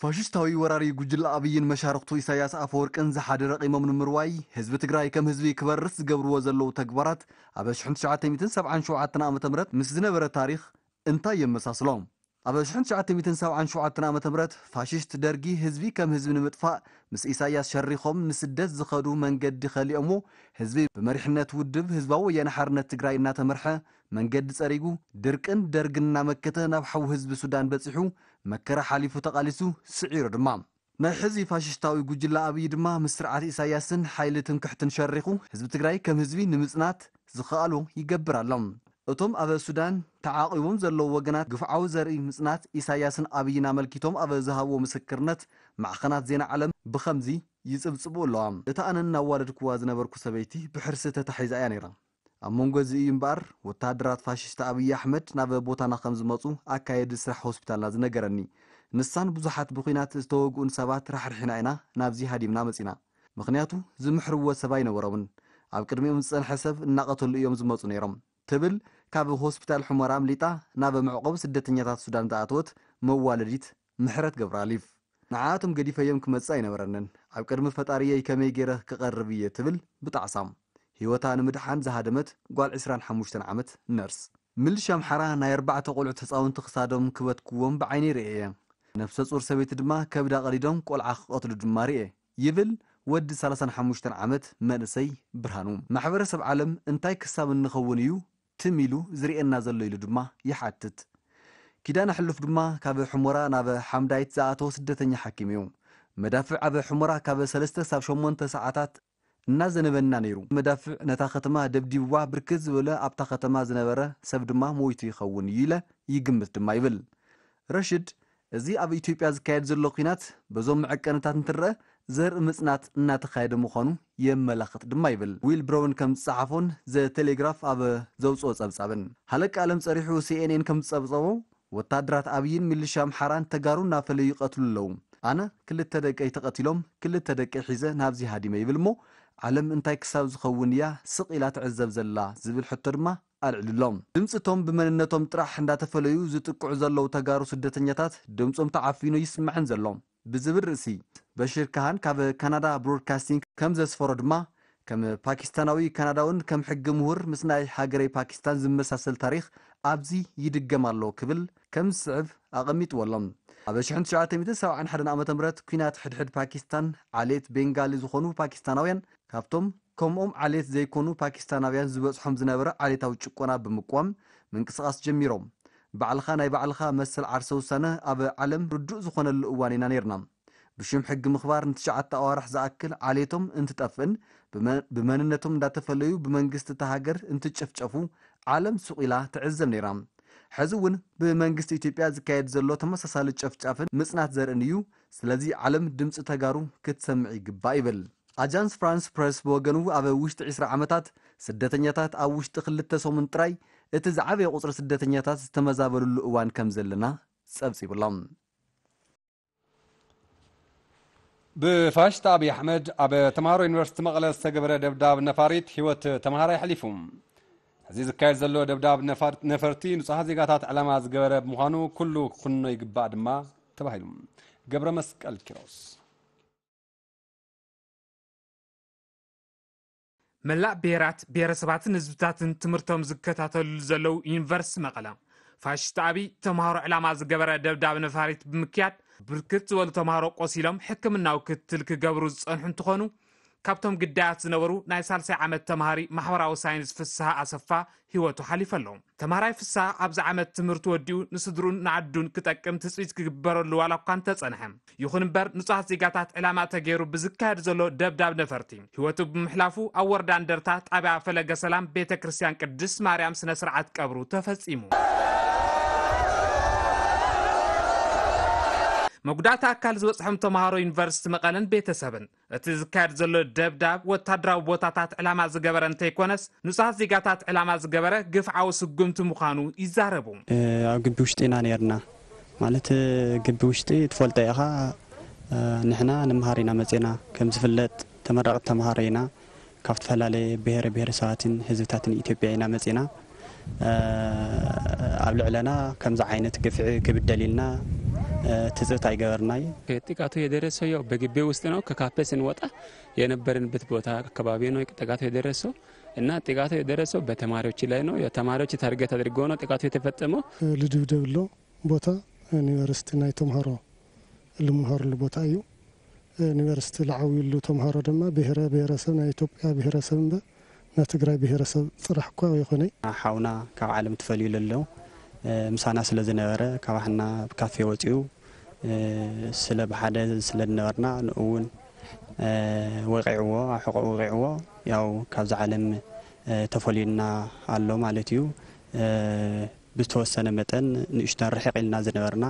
ፋሽስታዊ ወራሪ ጉጅለ ኣብይን መሻርኽቱ ኢሳያስ ኣፈወርቅን ዝሓደ ረቒሞም ንምርዋይ ህዝቢ ትግራይ ከም ህዝቢ ክበርስ ዝገብርዎ ዘለዉ ተግባራት ኣብ ሽሕን ትሽዓተ ሚእትን ሰብዓን ሸውዓተን ዓመተ ምህረት ምስ ዝነበረ ታሪኽ እንታይ የመሳስሎ? ኣብ ሽሕን ትሽዓተ ሚእትን ሰብዓን ሸውዓተን ዓመተ ምህረት ፋሽስት ደርጊ ህዝቢ ከም ህዝቢ ንምጥፋእ ምስ ኢሳያስ ሸሪኾም ንስደት ዝኸዱ መንገዲ ከሊኦሞ ህዝቢ ብመሪሕነት ውድብ ህዝባዊ ወያነ ሓርነት ትግራይ እናተመርሐ መንገዲ ጸሪጉ ድርቅን ደርግን እናመከተ ናብ ሓው ህዝቢ ሱዳን በጺሑ መከራ ሓሊፉ ተቓሊሱ ስዒሩ ድማ። ናይ ሕዚ ፋሽስታዊ ጉጅለ ኣብይ ድማ ምስ ስርዓት ኢሳያስን ሓይሊ ትምክሕትን ሸሪኹ ህዝቢ ትግራይ ከም ህዝቢ ንምጽናት ዝኸኣሎ ይገብር ኣሎ። እቶም ኣብ ሱዳን ተዓቒቦም ዘለዉ ወገናት ግፍዓዊ ዘርኢ ምጽናት ኢሳያስን ኣብይን ኣመልኪቶም ኣብ ዝሃብዎ ምስክርነት ማዕኸናት ዜና ዓለም ብኸምዚ ይጽብጽቡ ኣለዋ። እታ ኣነ እናዋደድኩዋ ዝነበርኩ ሰበይቲ ብሕርሲ ተታሒዛ እያ ነይራ። ኣብ መንጎ እዚ እዩ እምበኣር ወተሃደራት ፋሽስት ኣብይ ኣሕመድ ናብ ቦታና ከም ዝመጹ ኣካየዲ ስራሕ ሆስፒታልና ዝነገረኒ። ንሳን ብዙሓት ብኹናት ዝተወግኡን ሰባት ራሕሪሕና ኢና ናብዚ ሃዲምና መጺና። ምኽንያቱ ዝምሕርዎ ሰብ ኣይነበሮምን። ኣብ ቅድሚኦም ዝጸንሐ ሰብ እናቐተሉ እዮም ዝመጹ ነይሮም። ትብል ካብ ሆስፒታል ሑመራ ኣምሊጣ ናብ መዕቆቢ ስደተኛታት ሱዳን ዝኣተወት መዋለዲት ምሕረት ገብረኣሊፍ። ንዓኣቶም ገዲፈዮም ክመጽእ ኣይነበረንን። ኣብ ቅድሚ ፈጣሪየይ ከመይ ገይረ ክቐርብ እየ ትብል ብጣዕሳ። ህይወታ ንምድሓን ዝሃደመት ጓል ዕስራን ሓሙሽተን ዓመት ነርስ። ምልሻ ኣምሓራ ናይ ኣርባዕተ ቆልዑት ህፃውንቲ ክሳዶም ክበትክዎም ብዓይነይ ርእየ እየ። ነፍሰ ፁር ሰበይቲ ድማ ከብዳ ቀዲዶም ቆልዓ ክቐትሉ ድማ ርእየ ይብል ወዲ ሰላሳን ሓሙሽተን ዓመት መንእሰይ ብርሃኑ። ማሕበረሰብ ዓለም እንታይ ክሳብ እንኸውን እዩ ትም ኢሉ ዝርእየና ዘሎ ኢሉ ድማ ይሓትት። ኪዳነ ሕሉፍ ድማ ካብ ሑመራ ናብ ሓምዳይት ዝኣተወ ስደተኛ ሓኪም እዩ። መዳፍዕ ኣብ ሑመራ ካብ ሰለስተ ክሳብ ሸሞንተ ሰዓታት እናዘነበና ነይሩ። መዳፍዕ ነታ ከተማ ደብዲብዋ ብርክት ዝበለ ኣብታ ከተማ ዝነበረ ሰብ ድማ ሞይቱ ይኸውን እዩ ኢለ ይግምት ድማ ይብል። ረሽድ እዚ ኣብ ኢትዮጵያ ዝካየድ ዘሎ ኲናት በዞም መዐቀንታት እንትረአ ዘርኢ ምጽናት እናተኻየደ ምዃኑ የመላኽት ድማ ይብል ዊል ብሮውን ከም ዝጸሓፎን ዘ ቴሌግራፍ ኣብ ዘውፅኦ ጸብጻብን። ሃለቃ ዓለም ጸሪሑ ሲኤንኤን ከም ዝጸብጸቦ ወታደራት ኣብይን ሚሊሻ ኣምሓራን ተጋሩ እናፈለዩ ይቐትሉ ኣለዉ። ኣነ ክልተ ደቀይ ተቐቲሎም ክልተ ደቀይ ሒዘ ናብዚ ሃዲመ ይብል እሞ ዓለም እንታይ ክሳብ ዝኸውን እያ ስቕ ኢላ ትዕዘብ ዘላ ዝብል ሕቶ ድማ ኣልዒሉሎም። ድምፂ እቶም ብመንነቶም ጥራሕ እንዳተፈለዩ ዝጥቅዑ ዘለዉ ተጋሩ ስደተኛታት ድምፆም ተዓፊኑ ይስማዕን ዘሎ ብዝብል ርእሲ በሽር ካሃን ካብ ካናዳ ብሮድካስቲንግ ከም ዘስፈሮ ድማ ከም ፓኪስታናዊ ካናዳውን ከም ሕጊ ምሁር ምስ ናይ ሃገረይ ፓኪስታን ዝመሳሰል ታሪኽ ኣብዚ ይድገም ኣሎ ክብል ከም ዝስዕብ ኣቐሚጥዎ ኣሎ። ኣብ ሽሕን ትሽዓተ ሚእትን ሰብዓን ሓደን ዓመተ ምህረት ኲናት ሕድሕድ ፓኪስታን ዓሌት ቤንጋሊ ዝኾኑ ፓኪስታናውያን ካብቶም ከምኦም ዓሌት ዘይኮኑ ፓኪስታናውያን ዝበጽሖም ዝነበረ ዓሌታዊ ጭቆና ብምቅዋም ምንቅስቓስ ጀሚሮም። ባዕልኻ ናይ ባዕልኻ መሰል ዓርሰ ውሳነ ኣብ ዓለም ርዱእ ዝኾነሉ እዋን ኢና ነይርና። ብሽም ሕጊ ምኽባር ንትሽዓተ ኣዋርሕ ዝኣክል ዓሌቶም እንትጠፍእን ብመንነቶም እንዳተፈለዩ ብመንግስቲ እታ ሃገር እንትጨፍጨፉ ዓለም ሱቕ ኢላ ትዕዘብ ነይራ። ሕዚ እውን ብመንግስቲ ኢትዮጵያ ዝካየድ ዘሎ ተመሳሳሊ ጨፍጫፍን ምጽናት ዘርእን እዩ። ስለዚ ዓለም ድምፂ ተጋሩ ክትሰምዕ ይግባእ ይብል። ኣጃንስ ፍራንስ ፕረስ ብወገኑ ኣብ ውሽጢ ዕስራ ዓመታት ስደተኛታት ኣብ ውሽጢ ክልተ ሰሙን ጥራይ እቲ ዝዓበየ ቁፅሪ ስደተኛታት ዝተመዛበልሉ እዋን ከም ዘለና ጸብጺቡሎም። ብፋሽስት ኣብይ ኣሕመድ ኣብ ተምሃሮ ዩኒቨርሲቲ መቐለ ዝተገበረ ደብዳብ ነፋሪት ህይወት ተምሃራይ ኣሕሊፉ። እዚ ዝካየድ ዘሎ ደብዳብ ነፈርቲ ንጹሃት ዜጋታት ዕላማ ዝገበረ ብምዃኑ ኩሉ ክኹንኖ ይግባእ ድማ ተባሂሉ። ገብረ መስቀል ኪሮስ። መላእ ብሄራት፣ ብሄረሰባትን ህዝብታትን ትምህርቶም ዝከታተልሉ ዘለዉ ዩኒቨርሲቲ መቐለ ፋሽስት ኣብይ ተምሃሮ ዕላማ ዝገበረ ደብዳብ ነፋሪት ብምክያድ ብርክት ዝበሉ ተምሃሮ ቆሲሎም ሕክምናዊ ክትትል ክገብሩ ዝፀንሑ እንትኾኑ ካብቶም ግዳያት ዝነበሩ ናይ ሳልሳይ ዓመት ተምሃሪ ማሕበራዊ ሳይንስ ፍስሃ ኣሰፋ ህይወቱ ሓሊፈ ኣሎ። ተምሃራይ ፍስሃ ኣብዚ ዓመት ትምህርቲ ወዲኡ ንስድሩን ንዓዱን ክጠቅም ትፅቢት ክግበረሉ ዋላ እኳ እንተፀንሐ ይኹን እምበር ንጹሃት ዜጋታት ዕላማ ተገይሩ ብዝካየድ ዘሎ ደብዳብ ነፈርቲ ህይወቱ ብምሕላፉ ኣብ ወረዳ እንደርታ ጣብያ ፈለገ ሰላም ቤተ ክርስቲያን ቅድስት ማርያም ስነ ስርዓት ቀብሩ ተፈጺሙ። መጉዳእቲ ኣካል ዝበፅሖም ተምሃሮ ዩኒቨርሲቲ መቐለን ቤተሰብን፣ እቲ ዝካየድ ዘሎ ደብዳብ ወታደራዊ ቦታታት ዕላማ ዝገበረ እንተይኮነስ፣ ንጹሃት ዜጋታት ዕላማ ዝገበረ ግፍዓዊ ስጉምቲ ምዃኑ ይዛረቡ። ኣብ ግቢ ውሽጢ ኢና ነርና። ማለት፣ ግቢ ውሽጢ ትፈልጦ ኢኻ። ንሕና ንምሃር ኢና መጺና። ከም ዝፍለጥ፣ ተመረቕቲ ተምሃሮ ኢና። ካብ ዝተፈላለየ ብሄረ ብሄረሰባትን ህዝብታትን ኢትዮጵያ ኢና መጺና። ኣብ ልዕለና ከምዚ ዓይነት ግፍዒ ክብደል ኢልና ትጽብት ኣይገበርናይ። ጥቃቱ የደረሰው ያው በግቢ ውስጥ ነው። ከካፌ ስንወጣ የነበርንበት ቦታ አካባቢ ነው ጥቃቱ የደረሰው እና ጥቃቱ የደረሰው በተማሪዎች ላይ ነው። ተማሪዎች ታርጌት አድርጎ ነው ጥቃቱ የተፈጸመው። ልድብደብ ኣሎ ቦታ ዩኒቨርሲቲ ናይ ተምሃሮ ልምሃርሉ ቦታ እዩ። ዩኒቨርሲቲ ልዓብዩሉ ተምሃሮ ድማ ብሄረ ብሄረሰብ ናይ ኢትዮጵያ ብሄረሰብ እምበር ናይ ትግራይ ብሄረሰብ ጥራሕ እኳ ኣይኾነይ። ሓውና ካብ ዓለም ትፈልዩ ለሎ ምሳና ስለ ዝነበረ ካባሕና ኣብ ካፌ ወፂኡ ስለ ብሓደ ስለ ዝነበርና ንእውን ወቂዕዎ ኣሕቆ ወቂዕዎ ያው ካብዚ ዓለም ተፈልዩና ኣሎ ማለት እዩ። ብዝተወሰነ መጠን ንእሽተን ርሕቕ ኢልና ዝነበርና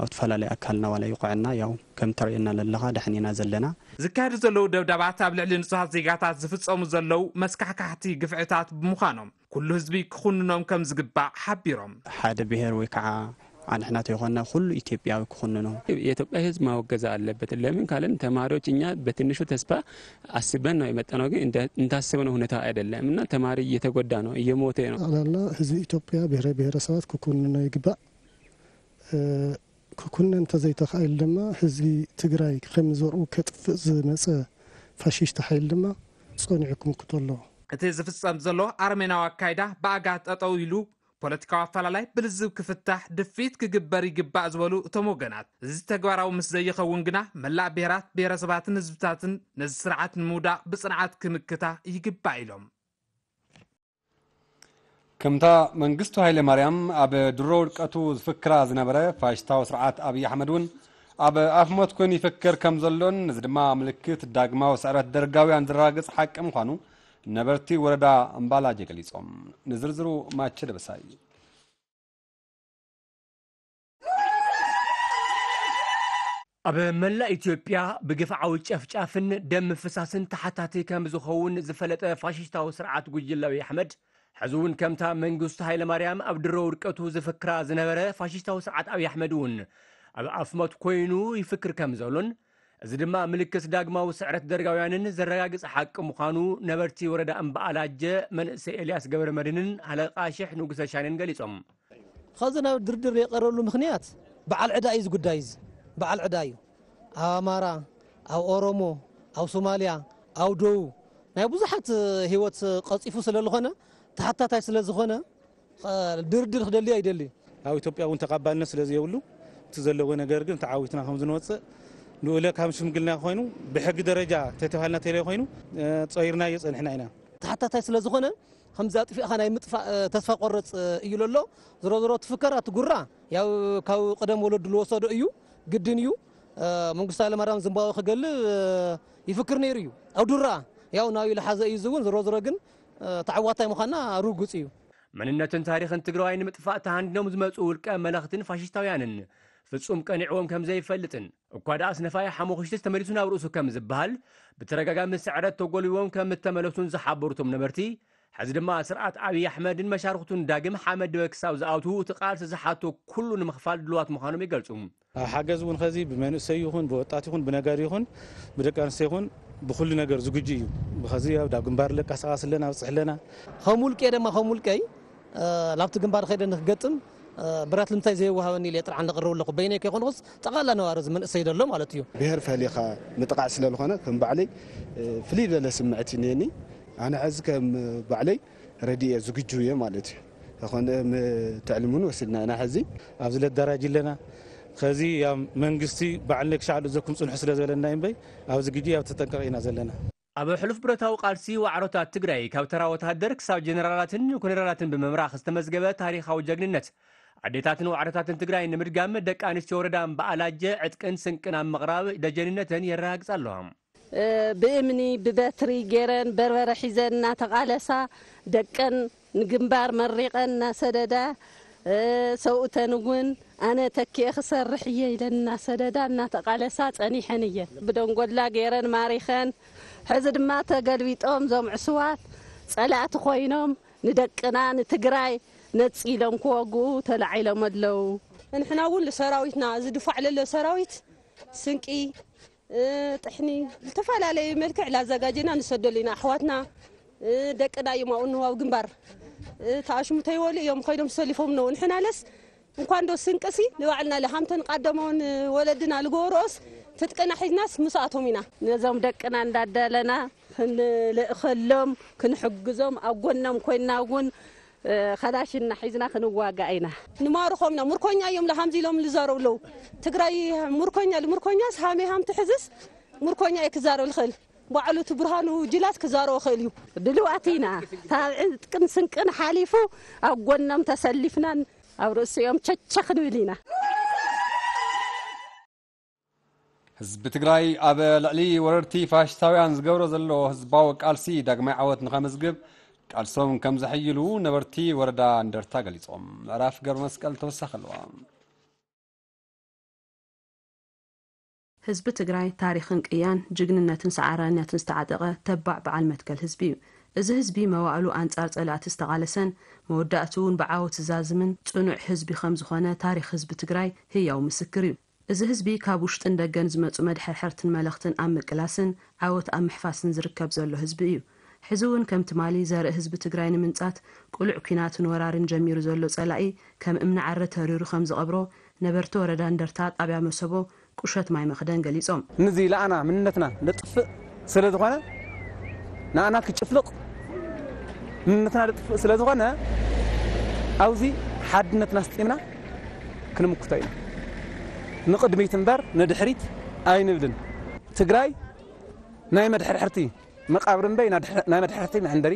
ኣብ ተፈላለዩ ኣካልና ዋላ ይቆዐና ያው ከም ተርእየና ለለኻ ደሕን ኢና ዘለና። ዝካየዱ ዘለዉ ደብዳባት ኣብ ልዕሊ ንጹሃት ዜጋታት ዝፍጸሙ ዘለዉ መስካሕካሕቲ ግፍዕታት ብምዃኖም ኩሉ ህዝቢ ክኹንኖም ከም ዝግባእ ሓቢሮም። ሓደ ብሔር ወይ ከዓ ኣንሕና ተይኮንና ኩሉ ኢትዮጵያዊ ክኹንኖ። የኢትዮጵያ ህዝብ ማወገዝ ኣለበት። ለምን ካለን ተማሪዎች እኛ በትንሹ ተስፋ አስበን ነው የመጣነው፣ ግን እንደ- እንዳሰብነው ሁኔታ አይደለም እና ተማሪ እየተጎዳ ነው፣ እየሞተ ነው። ጠቕላላ ህዝቢ ኢትዮጵያ ብሔረ ብሔረሰባት ክኩንኖ ይግባእ። ክኩነ እንተዘይተኻኢሉ ድማ ህዝቢ ትግራይ ከም ዘርኡ ከጥፍእ ዝመፀ ፋሽስት ሓይል ድማ ፀኒዑ ክምክቶ ኣለዎ። እቲ ዝፍጸም ዘሎ ኣረሜናዊ ኣካይዳ ብኣጋ ጠጠው ኢሉ ፖለቲካዊ ኣፈላላይ ብልዝብ ክፍታሕ ድፊት ክግበር ይግባእ ዝበሉ እቶም ወገናት፣ እዚ ተግባራዊ ምስ ዘይኸውን ግና መላእ ብሄራት፣ ብሄረሰባትን ህዝብታትን ነዚ ስርዓት ንምውዳቕ ብጽንዓት ክምክታ ይግባእ ኢሎም። ከምታ መንግስቱ ሃይለ ማርያም ኣብ ድሮ ውድቀቱ ዝፍክራ ዝነበረ ፋሽስታዊ ስርዓት ኣብይ ኣሕመድ እውን ኣብ ኣፍ ሞት ኮይኑ ይፍክር ከም ዘሎን እዚ ድማ ምልክት ዳግማዊ ስዕረት ደርጋውያን ዘረጋግጽ ሓቂ ምዃኑ ነበርቲ ወረዳ እምባላጀ ገሊጾም። ንዝርዝሩ ማቸ ደበሳይ። ኣብ መላእ ኢትዮጵያ ብግፍዓዊ ጨፍጫፍን ደም ምፍሳስን ተሓታቲ ከም ዝኸውን ዝፈለጠ ፋሽስታዊ ስርዓት ጉጅለ ኣብይ ኣሕመድ፣ ሕዚ እውን ከምታ መንግስቱ ሃይለማርያም ኣብ ድሮ ውድቀቱ ዝፍክራ ዝነበረ ፋሽስታዊ ስርዓት ኣብይ ኣሕመድ እውን ኣብ ኣፍ ሞት ኮይኑ ይፍክር ከም ዘሎን፣ እዚ ድማ ምልክት ዳግማዊ ስዕረት ደርጋውያንን ዘረጋግጽ ሓቂ ምዃኑ ነበርቲ ወረዳ እምበኣላጀ መንእሰይ ኤልያስ ገብረመድህንን ሃለቃ ሽሕ ንጉሰ ሻኔን ገሊጾም። ኸዚ ናብ ድርድር የቐረሉ ምኽንያት በዓል ዕዳ እዩ ዝጉዳይ እዚ በዓል ዕዳ እዩ ኣብ ኣማራ ኣብ ኦሮሞ ኣብ ሶማልያ ኣብ ደቡብ ናይ ብዙሓት ህይወት ቀፂፉ ስለ ዝኾነ ተሓታታይ ስለ ዝኾነ ድርድር ክደሊ ኣይደሊ ኣብ ኢትዮጵያ እውን ተቐባልነት ስለ ዘየብሉ እቲ ዘለዎ ነገር ግን ተዓዊትና ከም ዝንወፅእ ንኡለ ካብ ሽምግልና ኮይኑ ብሕጊ ደረጃ ተተባሃልና ተለ ኮይኑ ፀይርናዮ ፀንሕና ኢና ተሓታታይ ስለ ዝኾነ ከምዚ ኣጥፊእኻ ናይ ምጥፋእ ተስፋ ቆረፅ እዩ ለሎ ዝሮ ዝሮ ትፍከር ኣቲ ጉራ ያው ካብ ቀደም ወለዱ ዝወሰዶ እዩ ግድን እዩ መንግስቱ ሃይለማርያም ዝምባዊ ክገልብ ይፍክር ነይሩ እዩ ኣብ ዱራ ያው ናብዩ ልሓዘ እዩ ዝውን ዝሮ ዝሮ ግን ተዓዋታይ ምዃንና ርጉፅ እዩ መንነትን ታሪኽን ትግራዋይ ንምጥፋእ ተሃንዲኖም ዝመፁ ውልቀ መለኽትን ፋሽስታውያንን ፍጹም ቀኒዕዎም ከም ዘይፈልጥን እኳ ደኣ ስነፋይ ሓሞኽሽቲ ተመሊሱ ናብ ርእሱ ከም ዝበሃል ብተደጋጋሚ ስዕረት ተጎልቢቦም ከም እተመለሱን ዝሓበሩ እቶም ነበርቲ፣ ሕዚ ድማ ስርዓት ኣብይ ኣሕመድን መሻርኽቱን ዳግም ሓመድ ድበ ክሳብ ዝኣትዉ እቲ ቃልሲ ዝሓቶ ኩሉ ንምኽፋል ድሉዋት ምዃኖም ይገልጹ። ሓገዝ እውን ኸዚ ብመንእሰይ ይኹን ብወጣት ይኹን ብነጋዲ ይኹን ብደቂ ኣንስትዮ ይኹን ብኹሉ ነገር ዝግጁ እዩ። ብኸዚ ኣብ ዳብ ግንባር ለቃሳቃስ ኣለና ኣብፅሕ ኣለና። ከም ውልቀይ ድማ ከም ውልቀይ ላብቲ ግንባር ኸይደ ንክገጥም ብረት ልምታይ ዘይወሃበኒ ኢለ ጥርዓን ለቅርብ ኣለኹ በይነይ ከይኮንኩስ ጠቕላላ ነባሪ እዚ መንእሰይ ደሎ ማለት እዩ። ብሄር ፈሊኻ ምጥቓዕ ስለ ዝኾነ ከም ባዕለይ ፍልይ ዝበለ ስምዕት እኒአኒ። ኣነ ሕዚ ከም ባዕለይ ረዲኤ ዝግጁ እየ ማለት እዩ። ተኾነ ትዕልሙን ወሲድና ኢና ሕዚ። ኣብዚ ለደራጅ ኣለና። ኸዚ ያም መንግስቲ ባዕል ነግሻዕሉ ዘኩም ጽንሑ ስለ ዝበለና እምበይ ኣብዚ ግጂ ኣብ ተጠንቀቕ ኢና ዘለና። ኣብ ሕሉፍ ብረታዊ ቃልሲ ዋዕሮታት ትግራይ ካብ ተራ ወታደር ክሳብ ጀነራላትን ኮነራላትን ብምምራኽ ዝተመዝገበ ታሪኻዊ ጀግንነት ኣዴታትን ዋዕሮታትን ትግራይ ንምድጋም ደቂ ኣንስትዮ ወረዳ እምበኣላጀ ዕጥቅን ስንቅን ኣብ ምቕራብ ደጀንነተን የረጋግጻ ኣለዋ። ብእምኒ ብበትሪ ገይረን በርበረ ሒዘን እናተቓለሳ ደቀን ንግንባር መሪቐን እናሰደዳ ሰብኡተን እውን ኣነ ተኪኤ ክሰርሕ እየ ኢለን እናሰደዳ እናተቓለሳ ጸኒሐን እየን። ብደንጎላ ገይረን ማሪኸን። ሕዚ ድማ ተገልቢጦም እዞም ዕሱባት ጸላእቲ ኮይኖም ንደቅና ንትግራይ ነጺሎም ክወግኡ ተላዒሎም ኣለዉ። ንሕና እውን ንሰራዊትና ዝድፋዕ ለሎ ሰራዊት ስንቂ፣ ጥሕኒ፣ ዝተፈላለዩ መልክዕ ላዘጋጀና ንሰደሉ ኢና። ኣሕዋትና ደቅና እዮም ኣብኡ ንዋብ ግንባር ተኣሽሙ ተይወሉ እዮም ኮይዶም ሰሊፎም ነው። ንሕናለስ እንኳን ዶ ስንቅሲ ንባዕልና ለሃምተን ቃደመውን ወለድና ልጎሮስ ትጥቅና ሒዝናስ ምስኣቶም ኢና። ነዞም ደቅና እንዳዳለና ክንልእኸሎም ክንሕግዞም ኣብ ጎኖም ኮይና እውን ከላሽና ሒዝና ክንዋጋእ ኢና። ንማርኾም ኢና። ምርኮኛ እዮም ለሃምዚ ኢሎም ልዛረቡ ኣለዉ። ትግራይ ምርኮኛ ልምርኮኛስ ሃመይ ሃም ትሕዝስ ምርኮኛ እየ ክዛረብ ልኽእል። ባዕሉ እቲ ብርሃኑ ጅላት ክዛረቦ ክእል እዩ። ድልዋት ኢና። ታብዕን ጥቅን ስንቅን ሓሊፉ ኣብ ጎኖም ተሰሊፍናን ኣብ ርእሲኦም ቸቸ ክንብል ኢና። ህዝቢ ትግራይ ኣብ ልዕሊ ወረርቲ ፋሽስታውያን ዝገብሮ ዘሎ ህዝባዊ ቃልሲ ዳግማይ ዓወት ንኸመዝግብ ቃልሶም ከም ዘሐይሉ ነበርቲ ወረዳ እንደርታ ገሊጾም። ምዕራፍ ገብረ መስቀል ተወሳኺ ኣለዋ። ህዝቢ ትግራይ ታሪኽን ቅያን፣ ጅግንነትን ሰዓራይነትን ዝተዓጠቐ ተባዕ በዓል መትከል ህዝቢ እዩ። እዚ ህዝቢ መዋእሉ ኣንጻር ጸላእቲ ዝተቓለሰን መወዳእትኡ እውን ብዓወት ዝዛዝምን ጽኑዕ ህዝቢ ከም ዝኾነ ታሪኽ ህዝቢ ትግራይ ህያው ምስክር እዩ። እዚ ህዝቢ ካብ ውሽጥን ደገን ዝመጹ መድሐርሐርትን መለኽትን ኣብ ምቅላስን ዓወት ኣብ ምሕፋስን ዝርከብ ዘሎ ህዝቢ እዩ። ሕዚ እውን ከም ትማሊ ዘርኢ ህዝቢ ትግራይ ንምንጻት ቅሉዕ ኲናትን ወራርን ጀሚሩ ዘሎ ጸላኢ ከም እምኒ ዓረ ተሪሩ ከም ዝቐብሮ ነበርቲ ወረዳ እንደርታ ጣብያ መሰቦ ቁሸት ማይ መኽደን ገሊጾም። ንዚ ለኣና ምንነትና ለጥፍእ ስለ ዝኾነ ንኣና ክጭፍልቕ ምንነትና ለጥፍእ ስለ ዝኾነ ኣብዚ ሓድነትና ስጢምና ክንምክቶ ኢና። ንቕድሚት እምበር ንድሕሪት ኣይንብልን። ትግራይ ናይ መድሕርሕርቲ መቃብር እምበይ ናይ መድሕርሕርቲ መዕንደሪ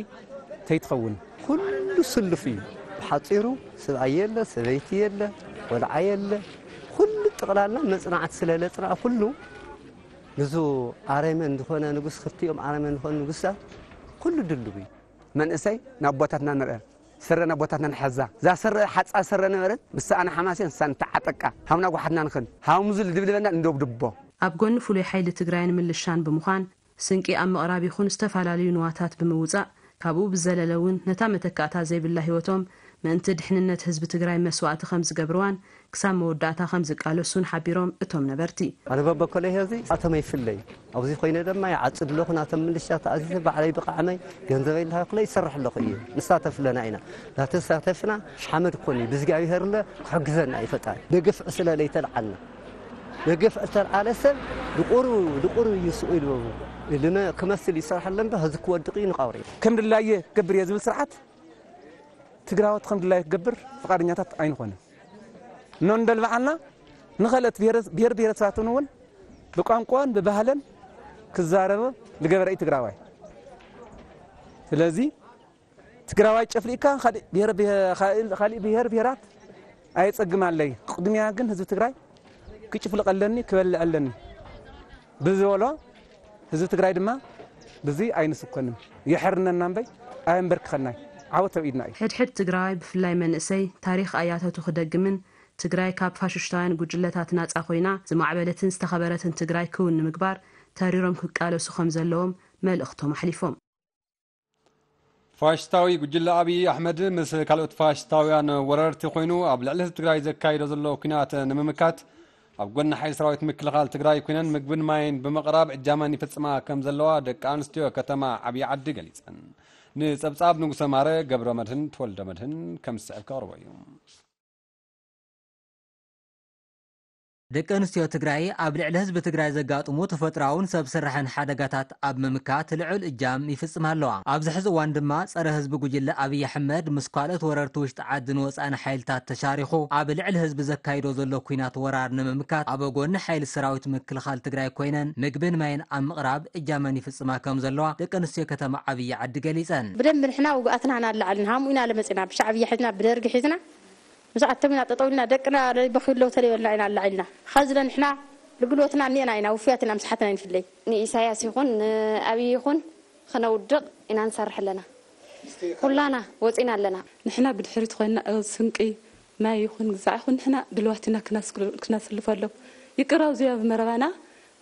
ተይትኸውን። ኩሉ ስሉፍ እዩ። ብሓፂሩ ስብኣይ የለ፣ ሰበይቲ የለ፣ ቆልዓ የለ። ኩሉ ጠቕላላ መፅናዕቲ ስለ ለፅናዕ ኩሉ ንዙ ኣረመን ዝኾነ ንጉስ ክልቲኦም ኣረመን ዝኾነ ንጉስታት ኩሉ ድልው እዩ። መንእሰይ ናቦታትና ንርአ ስረ ናቦታትና ንሓዛ እዛ ስረ ሓፃ ስረ ነበረት ምስ ሰኣና ሓማሴን ንሳ ንተዓጠቃ ሃምና ጓሓትና ንኽን ሃምዙ ልድብድበና እንደብድቦ። ኣብ ጎኒ ፍሉይ ሓይሊ ትግራይን ምልሻን ብምዃን ስንቂ ኣብ ምቕራብ ይኹን ዝተፈላለዩ ንዋታት ብምውፃእ ካብኡ ብዘለለ እውን ነታ መተካእታ ዘይብላ ህይወቶም ምእንቲ ድሕንነት ህዝቢ ትግራይ መስዋእቲ ከም ዝገብርዋን ክሳብ መወዳእታ ከም ዝቃለሱን ሓቢሮም እቶም ነበርቲ። ኣነ በበኮለይ ሕዚ ኣቶም ኣይፍለይ ኣብዚ ኮይነ ድማ ይዓፅድ ኣለኹ ናቶም ምልሻ ተኣዚዘ ባዕለይ ብቃዕመይ ገንዘበይ እንዳሃኩለ ይሰርሕ ኣለኹ እየ ንሳተፍ ኣለና ኢና ናተሳተፍና ሓመድ ኮኒ ብእግዚኣብሔር ለ ክሕግዘና እዩ ፈጣሪ ደገፍ ዕስለ ለይተልዓልና ደገፍ እተልዓለ ሰብ ድቁሩ ድቁሩ እዩ ስቕ ኢሉ ልመ ክመስል ይሰርሐለ እምበር ህዚ ክወድቕ እዩ ንቃብሮ እዩ ከም ድላየ ክገብር እየ ዝብል ስርዓት ትግራዎት ከም ድላዩ ክገብር ፍቓደኛታት ኣይንኾንን። ኖ እንደልባዓልና ንኸልኦት ብሔር ብሔረሰባትን እውን ብቋንቋን ብባህለን ክዛረብ ዝገበረ እዩ ትግራዋይ። ስለዚ ትግራዋይ ጨፍሊእካ ካሊእ ብሔር ብሔር- ካሊእ- ካሊእ ብሔር ብሔራት ኣየፀግም ኣለይ። ቅድሚያ ግን ህዝቢ ትግራይ ክጭፍልቕ ኣለኒ ክበልዕ ኣለኒ ብዝበሎ ህዝቢ ትግራይ ድማ ብዚ ኣይንስኮንን የሕርነና እምበይ ኣየንበርክኸናይ ዓወት ኣብ ኢድና እዩ። ሕድሕድ ትግራዋይ ብፍላይ መንእሰይ ታሪኽ ኣያታቱ ክደግምን ትግራይ ካብ ፋሽሽታውያን ጉጅለታት ናፃ ኮይና ዝማዕበለትን ዝተኸበረትን ትግራይ ክውን ንምግባር ተሪሮም ክቃለሱ ከም ዘለዎም መልእኽቶም ኣሕሊፎም። ፋሽስታዊ ጉጅለ ኣብይ ኣሕመድ ምስ ካልኦት ፋሽስታውያን ወረርቲ ኮይኑ ኣብ ልዕሊ ህዝቢ ትግራይ ዘካይዶ ዘሎ ኲናት ንምምካት ኣብ ጎኒ ሓይሊ ሰራዊት ምክልኻል ትግራይ ኮይነን ምግብን ማይን ብምቕራብ እጃመን ይፍፅማ ከም ዘለዋ ደቂ ኣንስትዮ ከተማ ዓብዪ ዓዲ ገሊፀን። ንፀብፃብ ንጉሰ ማረ ገብረ መድህን ተወልደ መድህን ከም ዝስዕብ ከቕርቦ እዩ። ደቂ ኣንስትዮ ትግራይ ኣብ ልዕሊ ህዝቢ ትግራይ ዘጋጥሙ ተፈጥሮኣውን ሰብ ስራሕን ሓደጋታት ኣብ ምምካት ልዑል እጃም ይፍፅማ ኣለዋ። ኣብዚ ሕዚ እዋን ድማ ፀረ ህዝቢ ጉጅለ ኣብይ ኣሕመድ ምስ ካልኦት ወረርቲ ውሽጢ ዓድን ወፃእን ሓይልታት ተሻሪኹ ኣብ ልዕሊ ህዝቢ ዘካይዶ ዘሎ ኲናት ወራር ንምምካት ኣብ ጎኒ ሓይሊ ሰራዊት ምክልኻል ትግራይ ኮይነን ምግብን ማይን ኣብ ምቕራብ እጃመን ይፍፅማ ከም ዘለዋ ደቂ ኣንስትዮ ከተማ ዓብዪ ዓዲ ገሊፀን። ብደንቢ ንሕና ውግኣትና ኢና ኣላዓልና ሃምኡ ኢና ለመፂና ብሻዕብያ ሒዝና ብደርጊ ሒዝና ምስ ኣቶም ኢና ጠጠው ኢልና ደቅና ለይበኽዩ ኣለዉ ተለይበልና ኢና ኣላዒልና ኸዚ ለንሕና ልግልወትና እኒኤና ኢና ውፍያት ኢና ምስሓትና ኣይንፍለይ። ንኢሳያስ ይኹን ንኣብይ ይኹን ኽነውድቕ ኢና ንሰርሕ ኣለና። ኩላና ወፂና ኣለና። ንሕና ብድሕሪት ኮይንና ስንቂ ማይ ይኹን ግዛዕ ይኹን ንሕና ድልዋት ኢና ክነስልፈሎም። ይቅራው ዚያ ብመረባና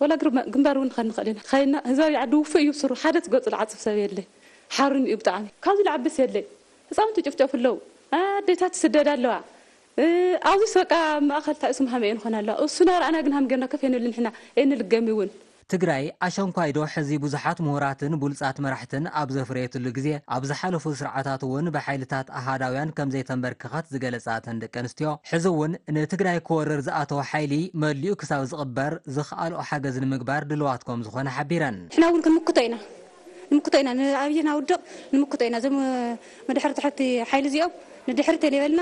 ወላ ግንባር እውን ንኸድ ንኽእል ኢና ኸይና ህዛብ ይዓዲ ውፍእ እዩ ስሩ ሓደ ትገጹ ልዓጽፍ ሰብ የለ። ሓሩን እዩ ብጣዕሚ ካብዚ ልዓብስ የለ። ህፃውንቲ ጭፍጨፉ ኣለዉ። ኣዴታት ትስደድ ኣለዋ። ኣብዚ በቃ ማእኸል ታእሱ መሃመ እየን ኾና ኣለዋ እሱና ረኣና ግን ሃም ገርና ከፍ የንብል ንሕና። የንልገም እውን ትግራይ ኣሸንኳይዶ ሕዚ ብዙሓት ምሁራትን ብሉጻት መራሕትን ኣብ ዘፍረየትሉ ግዜ ኣብ ዝሓለፉ ስርዓታት እውን ብሓይልታት ኣሃዳውያን ከም ዘይተንበርከኸት ዝገለጻ እተን ደቂ ኣንስትዮ፣ ሕዚ እውን ንትግራይ ክወርር ዝኣተወ ሓይሊ መሊኡ ክሳብ ዝቕበር ዝኸኣልኦ ሓገዝ ንምግባር ድልዋት ከም ዝኾነ ሓቢረን። ንሕና እውን ክንምክቶ ኢና ንምክቶ ኢና ንኣብይ ናውድቕ ንምክቶ ኢና እዞም መድሕር ትሕቲ ሓይሊ እዚኦም ንድሕር ተሌበልና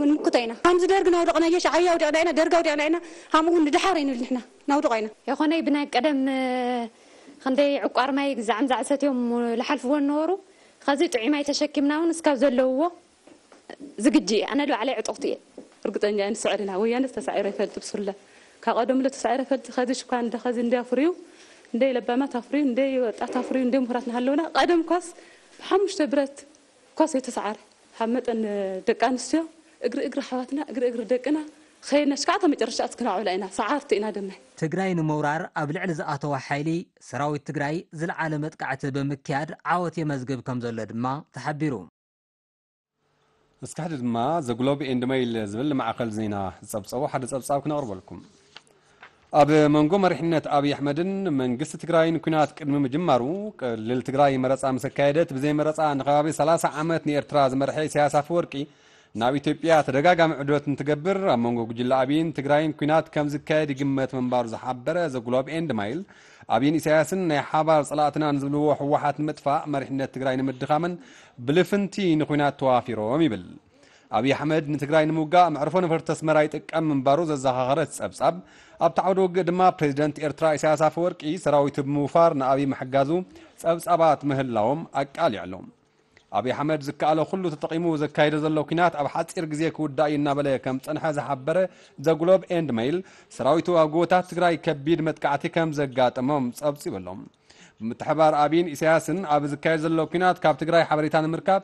ንምክቶ ኢና። ከምዚ ደርግ ናውደቕናዮ ሻዕብያ ኣውዲቕና ኢና ደርግ ኣውዲቕና ኢና። ሃምኡ ንድሓር ኣይንብል ንሕና ናውድቕ ኢና። የኾነይ ብናይ ቀደም ክንደይ ዕቋር ማይ ግዛዕም ዛዕሰት እዮም ልሓልፍዎ ነበሩ። ኸዚ ጥዑይ ማይ ተሸኪምና እውን እስካብ ዘለውዎ ዝግጂ እየ። ኣነ ባዕለይ ዕጡቕቲ እየ። ርግፀኛ እየ ንስዕር ኢና። ወያነስ ተሳዒሩ ኣይፈልጥ ብሱለ። ካብ ቀደምለ ተሳዒሩ ኣይፈልጥ። ኸዚ ሽኳ እንደ ኸዚ እንደ ኣፍርዩ እንደ ለባማት ኣፍርዩ እንደ ወጣት ኣፍርዩ እንደ ምሁራት ናሃለውና ቀደም ኳስ ብሓሙሽተ ብረት ኳስ የተሰዓረ ካብ መጠን ደቂ ኣንስትዮ እግሪ እግሪ ኣሕዋትና እግሪ እግሪ ደቅና ኸይድና ሽካዕታ መጨረሻ ኣትክናውዕላ ኢና ሰዓርቲ ኢና ደመ። ትግራይ ንምውራር ኣብ ልዕሊ ዝኣተወ ሓይሊ ሰራዊት ትግራይ ዝለዓለ መጥቃዕቲ ብምክያድ ዓወት የመዝግብ ከምዘሎ ድማ ተሓቢሩ። እስካሕዲ ድማ ዘግሎብ ኤንድ መይል ዝብል ማዕኸል ዜና ዝፀብፀቦ ሓደ ፀብፃብ ክነቕርበልኩም። ኣብ መንጎ መሪሕነት ኣብይ ኣሕመድን መንግስቲ ትግራይን ኲናት ቅድሚ ምጅማሩ፣ ክልል ትግራይ መረፃ ምስ ኣካየደት፣ ብዘይ መረፃ ንከባቢ ሰላሳ ዓመት ንኤርትራ ዝመርሐ ኢሳያስ ኣፈወርቂ፣ ናብ ኢትዮጵያ ተደጋጋሚ ዑደት እንትገብር፣ ኣብ መንጎ ጉጅለ ኣብይን ትግራይን ኲናት ከም ዝካየድ ይግመት ምንባሩ ዝሓበረ ዘ ግሎብ ኤንድ ማይል፣ ኣብይን ኢሳያስን ናይ ሓባር ፀላእትና ንዝብልዎ ህወሓት ንምጥፋእ፣ መሪሕነት ትግራይ ንምድኻምን ብልፍንቲ ንኲናት ተዋፊሮም ይብል። ኣብይ ኣሕመድ ንትግራይ ንምውጋእ መዕርፎ ነፈርቲ ኣስመራ ይጥቀም ምንባሩ ዘዘኻኸረ እቲ ጸብጻብ፣ ኣብቲ ዓውደ ውግእ ድማ ፕሬዚደንት ኤርትራ ኢሳያስ ኣፈወርቂ ሰራዊቱ ብምውፋር ንኣብይ ምሕጋዙ ጸብጻባት ምህላዎም ኣቃሊዑ ኣሎ። ኣብይ ኣሕመድ ዝከኣሎ ኩሉ ተጠቒሙ ዘካይዶ ዘሎ ኲናት ኣብ ሓጺር ግዜ ክውዳእ እዩ እናበለ ከም ዝጸንሐ ዝሓበረ ዘ ግሎብ ኤንድ መይል፣ ሰራዊቱ ኣብ ጎቦታት ትግራይ ከቢድ መጥቃዕቲ ከም ዘጋጠሞም ጸብጺቡ ኣሎ። ብምትሕብባር ኣብይን ኢሳያስን ኣብ ዝካየድ ዘሎ ኲናት ካብ ትግራይ ሓበሬታ ንምርካብ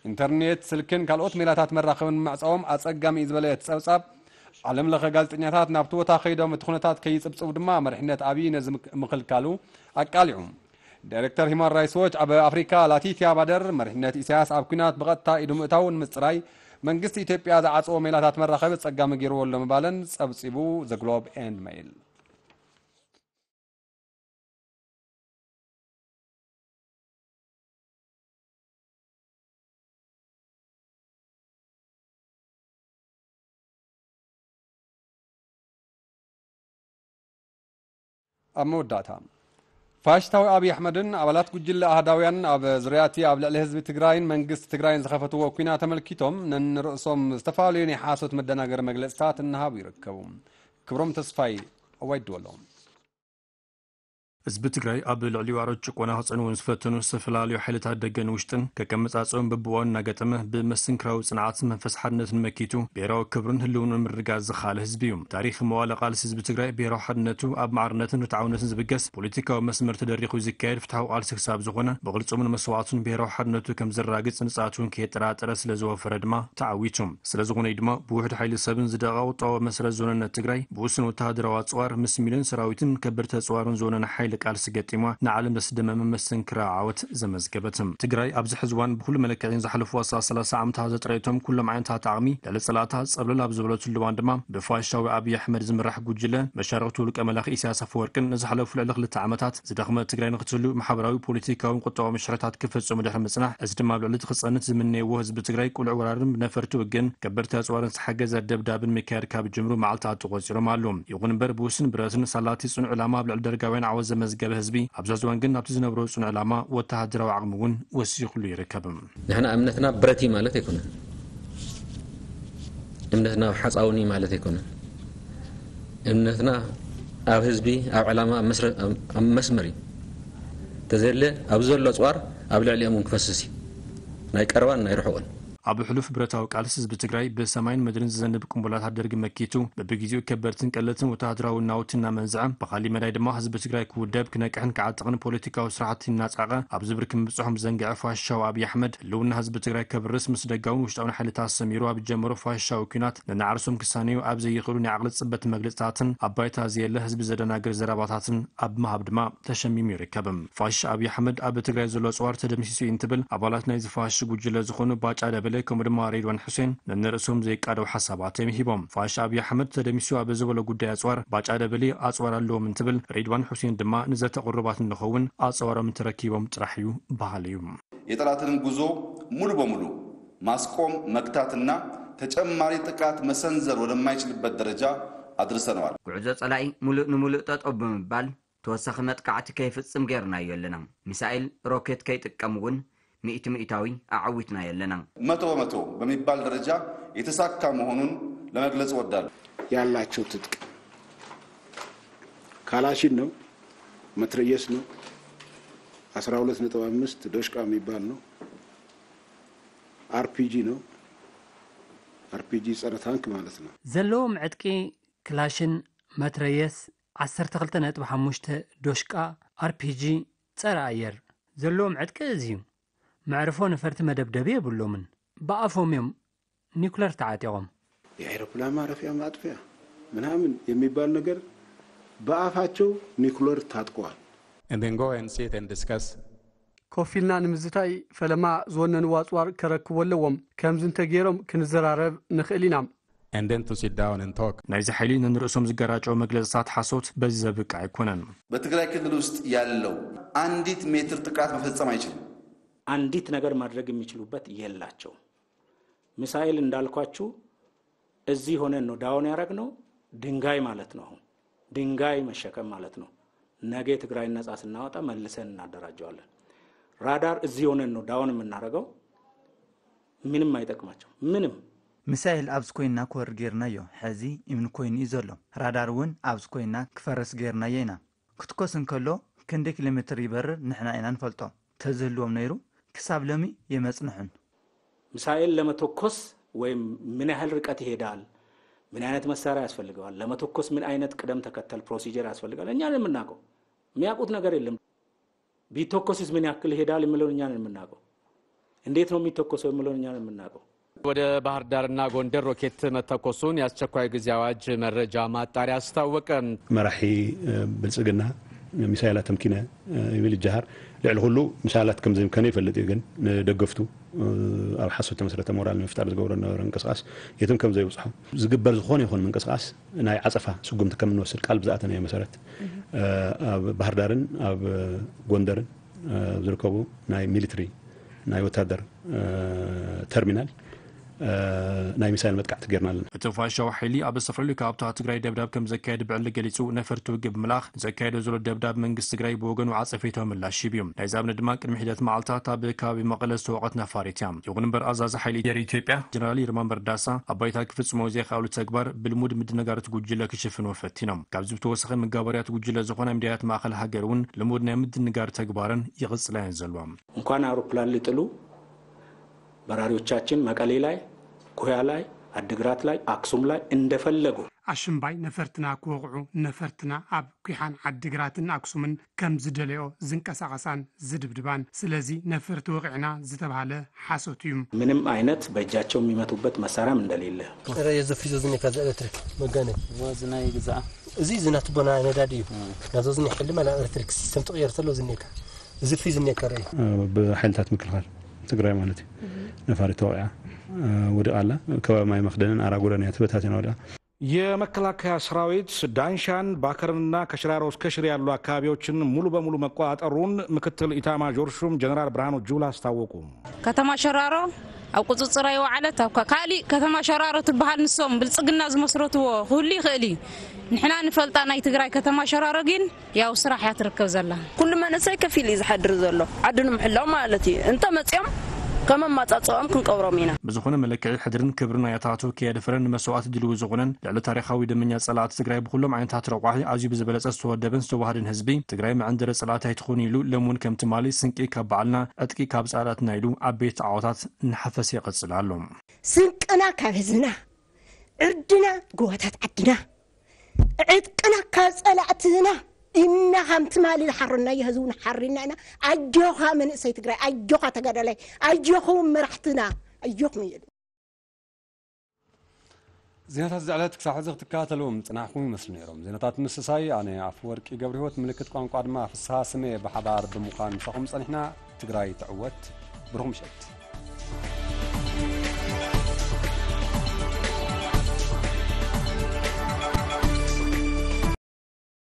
ኢንተርኔት፣ ስልክን ካልኦት ሜላታት መራኸቢ ንምዕጻዎም ኣጸጋሚ እዩ ዝበለ እቲ ጸብጻብ፣ ዓለም ለኸ ጋዜጠኛታት ናብቲ ቦታ ከይዶም እቲ ኩነታት ከይጽብጽቡ ድማ መሪሕነት ኣብይ ነዚ ምክ- ምኽልካሉ ኣቃሊዑ። ዳይሬክተር ሂማን ራይትስ ዎች ኣብ ኣፍሪካ ላቲቲያ ባደር፣ መሪሕነት ኢሳያስ ኣብ ኲናት ብቐጥታ ኢዱ ምእታው ንምጽራይ መንግስቲ ኢትዮጵያ ዝዓጸዎ ሜላታት መራኸቢ ኣጸጋሚ ገይርዎ ኣሎ ምባለን ጸብጺቡ ዘ ግሎብ ኤንድ መይል። ኣብ መወዳእታ፣ ፋሽስታዊ ኣብይ ኣሕመድን ኣባላት ጉጅለ ኣህዳውያን ኣብ ዙርያ እቲ ኣብ ልዕሊ ህዝቢ ትግራይን መንግስቲ ትግራይን ዝኸፈትዎ ኲናት ኣመልኪቶም ነንርእሶም ዝተፈላለዩ ናይ ሓሶት መደናገሪ መግለፅታት እናሃቡ ይርከቡ። ክብሮም ተስፋይ፣ እዋይ ድወሎም። ህዝቢ ትግራይ ኣብ ልዕሊኡ ኣረድ ጭቆና ክጸንውን ዝፈተኑ ዝተፈላለዩ ሓይልታት ደገን ውሽጥን ከቀመጻጽኦም በብእዋኑ እናገጠመ ብመስተንክራዊ ጽንዓትን መንፈስ ሓድነትን መኪቱ ብሄራዊ ክብሩን ህልውንኡን ምርግጋጽ ዝኸኣለ ህዝቢ እዩ። ታሪኽ መዋለ ቃልሲ ህዝቢ ትግራይ ብሄራዊ ሓድነቱ ኣብ ማዕርነትን ርትዓውነትን ዝብገስ ፖለቲካዊ መስመር ተደሪኹ ዝካየድ ፍትሓዊ ቃልሲ ክሳብ ዝኾነ ብቕልጽሙን መስዋዕቱን ብሄራዊ ሓድነቱ ከም ዘራግጽ ንጽሃት እውን ከየጠራጠረ ስለ ዝወፈረ ድማ ተዓዊቱ። ስለዝኾነ እዩ ድማ ብውሑድ ሓይሊ ሰብን ዝደቐቐ ቁጠባዊ መሰረት ዝወነነት ትግራይ ብውሱን ወተሃደራዊ ኣጽዋር ምስ ሚልዮን ሰራዊትን ከበድቲ ኣጽዋርን ዝወነነ ሓይሊ ቃልሲ ገጢማ ንዓለም ዘስደመመ መስተንክራዊ ዓወት ዘመዝገበት። ትግራይ ኣብዚ ሕዚ እዋን ብኹሉ መለክዒ ንዝሓለፉ ኣስታት ሰላሳ ዓመታት ዘጥረየቶም ኩሎም ዓይነታት ዓቕሚ ልዕሊ ጸላእታ ጸብለል ኣብ ዝበለትሉ እዋን ድማ ብፋሽስታዊ ኣብይ ኣሕመድ ዝምራሕ ጉጅለ መሻርኽቱ ውልቀ መላኺ ኢሳያስ ኣፈወርቅን ንዝሓለፉ ልዕሊ ክልተ ዓመታት ዝደኽመት ትግራይ ንኽትህሉ ማሕበራዊ፣ ፖለቲካውን ቁጠባዊ መሻርኽታት ክፍጽሙ ድሕሪ ምጽናሕ፣ እዚ ድማ ኣብ ልዕሊ እቲ ክጸንት ዝምነይዎ ህዝቢ ትግራይ ቅሉዕ ወራርን ብነፈርቲ ውግእን ከበድቲ ኣጽዋርን ዝተሓገዘ ደብዳብን ምክያድ ካብ ዝጅምሩ መዓልታት ተቖጺሮም ኣለዉ። ይኹን እምበር ብውሱን ብረትን ሳላቲ ጽኑዕ ዕላማ ኣብ ልዕሊ ደርጋውያን ዓወት ዘመዝገበ ህዝቢ ኣብዚ ሕዚ እዋን ግን ናብቲ ዝነብሮ ጽኑዕ ዕላማ ወተሃደራዊ ዓቕሚ እውን ወሲኹሉ ይርከብ። ንሕና እምነትና ብረት እዩ ማለት ኣይኮነን። እምነትና ኣብ ሓፃውን እዩ ማለት ኣይኮነን። እምነትና ኣብ ህዝቢ፣ ኣብ ዕላማ፣ ኣብ መስረ- ኣብ- ኣብ መስመር እዩ። ተዘየለ ኣብዚ ዘሎ ኣፅዋር ኣብ ልዕሊኦም እውን ክፈስስ እዩ። ናይ ቀረባን ናይ ርሑቕን። ኣብ ሕሉፍ ብረታዊ ቃልሲ ህዝቢ ትግራይ ብሰማይን ምድርን ዝዘንብ ቅንቡላታት ደርጊ መኪቱ፣ በብግዜኡ ከበድትን ቀለልትን ወተሃደራዊ ናውቲ እናመንዝዐ፣ ብኻሊእ መዳይ ድማ ህዝቢ ትግራይ ክውደብ፣ ክነቅሕን ክዓጥቕን ፖለቲካዊ ስራሕቲ እናጻቐ ኣብ ዝብርክ ምብጽሖም ዘንግዐ ፋሽስታዊ ኣብይ ኣሕመድ፣ ህልውና ህዝቢ ትግራይ ከብርስ ምስ ደጋውን ውሽጣውን ሓይልታት ሰሚሩ ኣብ ጀመሮ ፋሽስታዊ ኲናት፣ ነናዕርሶም ክሳነዩ ኣብ ዘይኽእሉ ናይ ዓቕሊ ጽበት መግለጽታትን ኣብ ባይታ ዘየለ ህዝቢ ዘደናግር ዘረባታትን ኣብ ምሃብ ድማ ተሸሚሙ ይርከብ። ፋሽስት ኣብይ ኣሕመድ ኣብ ትግራይ ዘሎ ኣጽዋር ተደምሲሱ እዩ እንትብል፣ ኣባላት ናይዚ ፋሽስት ጉጅለ ዝኾኑ ባጫ ደበሌ ከምኡ ድማ ሬድዋን ሑሴን ነንርእሶም ዘይቃደው ሓሳባት እዮም ሂቦም። ፋሽስት ኣብይ ኣሕመድ ተደምሲሱ ኣብ ዝበሎ ጉዳይ ኣጽዋር ባጫ ደበሌ ኣጽዋር ኣለዎም እንትብል፣ ሬድዋን ሑሴን ድማ ንዘተ ቅሩባት እንኸውን ኣጽዋሮም እንተረኪቦም ጥራሕ እዩ በሃሊ እዩ። የጠላትንም ጉዞ ሙሉ በሙሉ ማስቆም፣ መግታትና ተጨማሪ ጥቃት መሰንዘር ወደማይችልበት ደረጃ ኣድርሰነዋል። ጉዕዞ ጸላኢ ሙሉእ ንሙሉእ ጠጠው ብምባል ተወሳኺ መጥቃዕቲ ከይፍጽም ጌርናዮ ኣለና። ሚሳኤል፣ ሮኬት ከይጥቀም እውን ሚእቲ ሚእታዊ ኣዐዊትናዮ ኣለና። መቶ በመቶ በሚባል ደረጃ የተሳካ መሆኑን ለመግለጽ እወዳለሁ። ያላቸው ትጥቅ ካላሽን ነው፣ መትረየስ ነው፣ አስራ ሁለት ነጥብ አምስት ዶሽቃ የሚባል ነው፣ አርፒጂ ነው፣ አርፒጂ ጸረ ታንክ ማለት ነው። ዘለዎም ዕጥቂ ክላሽን መትረየስ ዓሰርተ ክልተ ነጥቢ ሓሙሽተ ዶሽቃ ኣርፒጂ ጸረ ኣየር ዘለዎም ዕጥቂ እዚ እዩ። መዕርፎ ነፈርቲ መደብደቢ የብሎምን። ብኣፎም እዮም ኒኩለር ተዓጢቖም። የአይሮፕላን ማረፊያ ማጥፊያ ምናምን የሚባል ነገር በአፋቸው ኒኩለር ታጥቀዋል። And then go and sit and discuss. ኮፍ ኢልና ንምዝታይ ፈለማ ዝወነንዎ ኣፅዋር ከረክቡ ኣለዎም። ከምዚ እንተገይሮም ክንዘራረብ ንኽእል ኢና። And then to sit down and talk. ናይዚ ሓይሊ ነንርእሶም ዝገራጨው መግለጽታት ሓሶት በዚ ዘብቅዕ ኣይኮነን። በትግራይ ክልል ውስጥ ያለው አንዲት ሜትር ጥቃት መፈጸም አይችልም። አንዲት ነገር ማድረግ የሚችሉበት የላቸውም። ሚሳኤል እንዳልኳችሁ እዚህ ሆነን ነው ዳውን ያረግነው። ድንጋይ ማለት ነው። አሁን ድንጋይ መሸከም ማለት ነው። ነገ የትግራይን ነጻ ስናወጣ መልሰን እናደራጀዋለን። ራዳር እዚህ ሆነን ነው ዳውን የምናረገው። ምንም አይጠቅማቸው ምንም። ሚሳኤል ኣብዚ ኮይንና ክወርድ ጌርናዮ። ሕዚ እምኒ ኮይኑ እዩ ዘሎ። ራዳር እውን ኣብዚ ኮይንና ክፈርስ ጌርናዮ ኢና። ክትኮስ እንከሎ ክንደይ ኪሎ ሜትር ይበርር ንሕና ኢና ንፈልጦ። ተዝህልዎም ነይሩ ክሳብ ሎሚ የመጽንሑን። ሚሳኤል ለመተኮስ ወይም ምን ያህል ርቀት ይሄዳል፣ ምን አይነት መሳሪያ ያስፈልገዋል፣ ለመተኮስ ምን አይነት ቅደም ተከተል ፕሮሲጀር ያስፈልጋል እኛ ነን የምናውቀው። የሚያውቁት ነገር የለም። ቢተኮስስ ምን ያክል ይሄዳል የሚለውን እኛ ነን የምናውቀው። እንዴት ነው የሚተኮሰው የሚለውን እኛ ነን የምናውቀው። ወደ ባህር ዳርና ጎንደር ሮኬት መተኮሱን የአስቸኳይ ጊዜ አዋጅ መረጃ ማጣሪያ አስታወቀ። መራሒ ብልጽግና ሚሳይላት ተምኪነ ይብል ይጀሃር። ልዕሊ ኩሉ ሚሳይላት ከም ዘምከነ ይፈልጥ እዩ፣ ግን ንደገፍቱ ኣብ ሓሶት ተመስረተ ሞራል ንምፍጣር ዝገብሮ ዝነበረ ምንቅስቃስ የትም ከም ዘይብጽሖ ዝግበር ዝኾነ ይኹን ምንቅስቃስ ናይ ዓጸፋ ስጉምቲ ከም እንወስድ ቃል ብዝኣተናዮ መሰረት ኣብ ባህር ዳርን ኣብ ጎንደርን ዝርከቡ ናይ ሚሊትሪ ናይ ወታደር ተርሚናል ናይ ሚሳይል መጥቃዕቲ ጌርና ኣለና። እቲ ፋሽስታዊ ሓይሊ ኣብ ዝተፈላለዩ ከባብታት ትግራይ ደብዳብ ከም ዘካየደ ብዕሊ ገሊጹ፣ ነፈርቲ ውግእ ብምልኣኽ ዘካየዶ ዘሎ ደብዳብ መንግስቲ ትግራይ ብወገኑ ዓጸፌታዊ ምላሽ ሂቡ እዩ። ናይዚ ኣብነት ድማ ቅድሚ ሒደት መዓልታት ኣብ ከባቢ መቐለ ዝተወቐት ነፋሪት እያ። ይኹን እምበር ኣዛዚ ሓይሊ ኣየር ኢትዮጵያ ጀነራል ይልማ መርዳሳ ኣብ ባይታ ክፍጽሞ ዘይከኣሉ ተግባር ብልሙድ ምድንጋር እቲ ጉጅለ ክሽፍንዎ ፈቲኖም። ካብዚ ብተወሳኺ መጋበርያ እቲ ጉጅለ ዝኾና ሚድያታት ማእኸል ሃገር እውን ልሙድ ናይ ምድንጋር ተግባረን ይቕጽላ እየን ዘለዋ። እንኳን አውሮፕላን ሊጥሉ በራሪዎቻችን መቀሌ ላይ፣ ኩያ ላይ፣ አድግራት ላይ፣ አክሱም ላይ እንደፈለጉ ኣሽምባይ ነፈርትና ክወቕዑ ነፈርትና ኣብ ኲሓን ዓዲግራትን ኣክሱምን ከም ዝደለዮ ዝንቀሳቐሳን ዝድብድባን። ስለዚ ነፈርቲ ወቒዕና ዝተብሃለ ሓሶት እዩ። ምንም አይነት በእጃቸው የሚመቱበት መሳሪያም እንደሌለ ጥረ የዘፍሪ ዘዝኔካ ኤሌክትሪክ መጋነ እዚ ናይ ግዛኣ እዚ ዝናትቦና ነዳዲ እዩ። ናብዛ ዝኒ ሕልማ ናብ ኤሌክትሪክ ሲስተም ትቕየር ተሎ ዝኔካ እዚ ፍሪ ዝኔካ ርእ ብሓይልታት ምክልኻል ትግራይ ማለት እዩ። ነፋሪት ተወቂዓ ወዲቓ ኣላ። ከባቢ ማይ መኽደንን ኣራጉረን እያ ተበታቲና ወዲቓ። የመከላከያ ሰራዊት ዳንሻን ባከርንና ከሽራሮ እስከ ሽሬ ያሉ አካባቢዎችን ሙሉ በሙሉ መቆጣጠሩን ምክትል ኢታማዦር ሹም ጀነራል ብርሃኑ ጁላ አስታወቁ። ከተማ ሸራሮ ኣብ ቁፅፅር ኣይወዓለት። ኣብ ካሊእ ከተማ ሸራሮ ትበሃል ንሶም ብልፅግና ዝመስረትዎ ክህሉ ይኽእል እዩ። ንሕና ንፈልጣ ናይ ትግራይ ከተማ ሸራሮ ግን ያው ስራሕ እያ ትርከብ ዘላ። ኩሉ መንእሰይ ከፊል እዩ ዝሓድር ዘሎ ዓዱ ንምሕላው ማለት እዩ። እንተ መፅኦም ከም ኣማጻጽኦም ክንቀብሮም ኢና። ብዝኾነ መለክዒ ሕድርን ክብርን ኣያታቱ ከየድፈረን ንመስዋእቲ ድልዊ ዝኾነን ልዕሊ ታሪኻዊ ደመኛ ጸላእቲ ትግራይ ብኹሎም ዓይነታት ረቋሒ ኣዝዩ ብዝበለጸ ዝተወደበን ዝተዋህደን ህዝቢ ትግራይ መዐንደሪ ጸላእቲ ኣይትኾኑ ኢሉ ሎም እውን ከም ትማሊ ስንቂ ካብ ባዕልና ዕጥቂ ካብ ጸላእትና ኢሉ ዓበይቲ ዓወታት እናሓፈሰ ይቐጽል ኣሎ። ስንቅና ካብ ህዝብና፣ ዕርድና ጎቦታት ዓድና፣ ዕጥቅና ካብ ጸላእትና ኢና። ከም ትማሊ ዝሓረናዮ ህዝቢ ንሓሪና ኢና። ኣጆኻ መንእሰይ ትግራይ፣ ኣጆኻ ተጋዳላይ፣ ኣጆኹም መራሕትና፣ ኣጆኹም እየ። ዜናታት እዚ ዕለት ክሳብ ሕዚ ክትከታተልዎም ዝጸናሕኩም ይመስሉ ነይሮም። ዜናታት ምስሳይ ኣነ ኣፈወርቂ ገብረህይወት፣ ምልክት ቋንቋ ድማ ፍስሃ ስሜ ብሓባር ብምዃን ምሳኹም ጸኒሕና። ትግራይ ትዕወት። ብሩኽ ምሸት።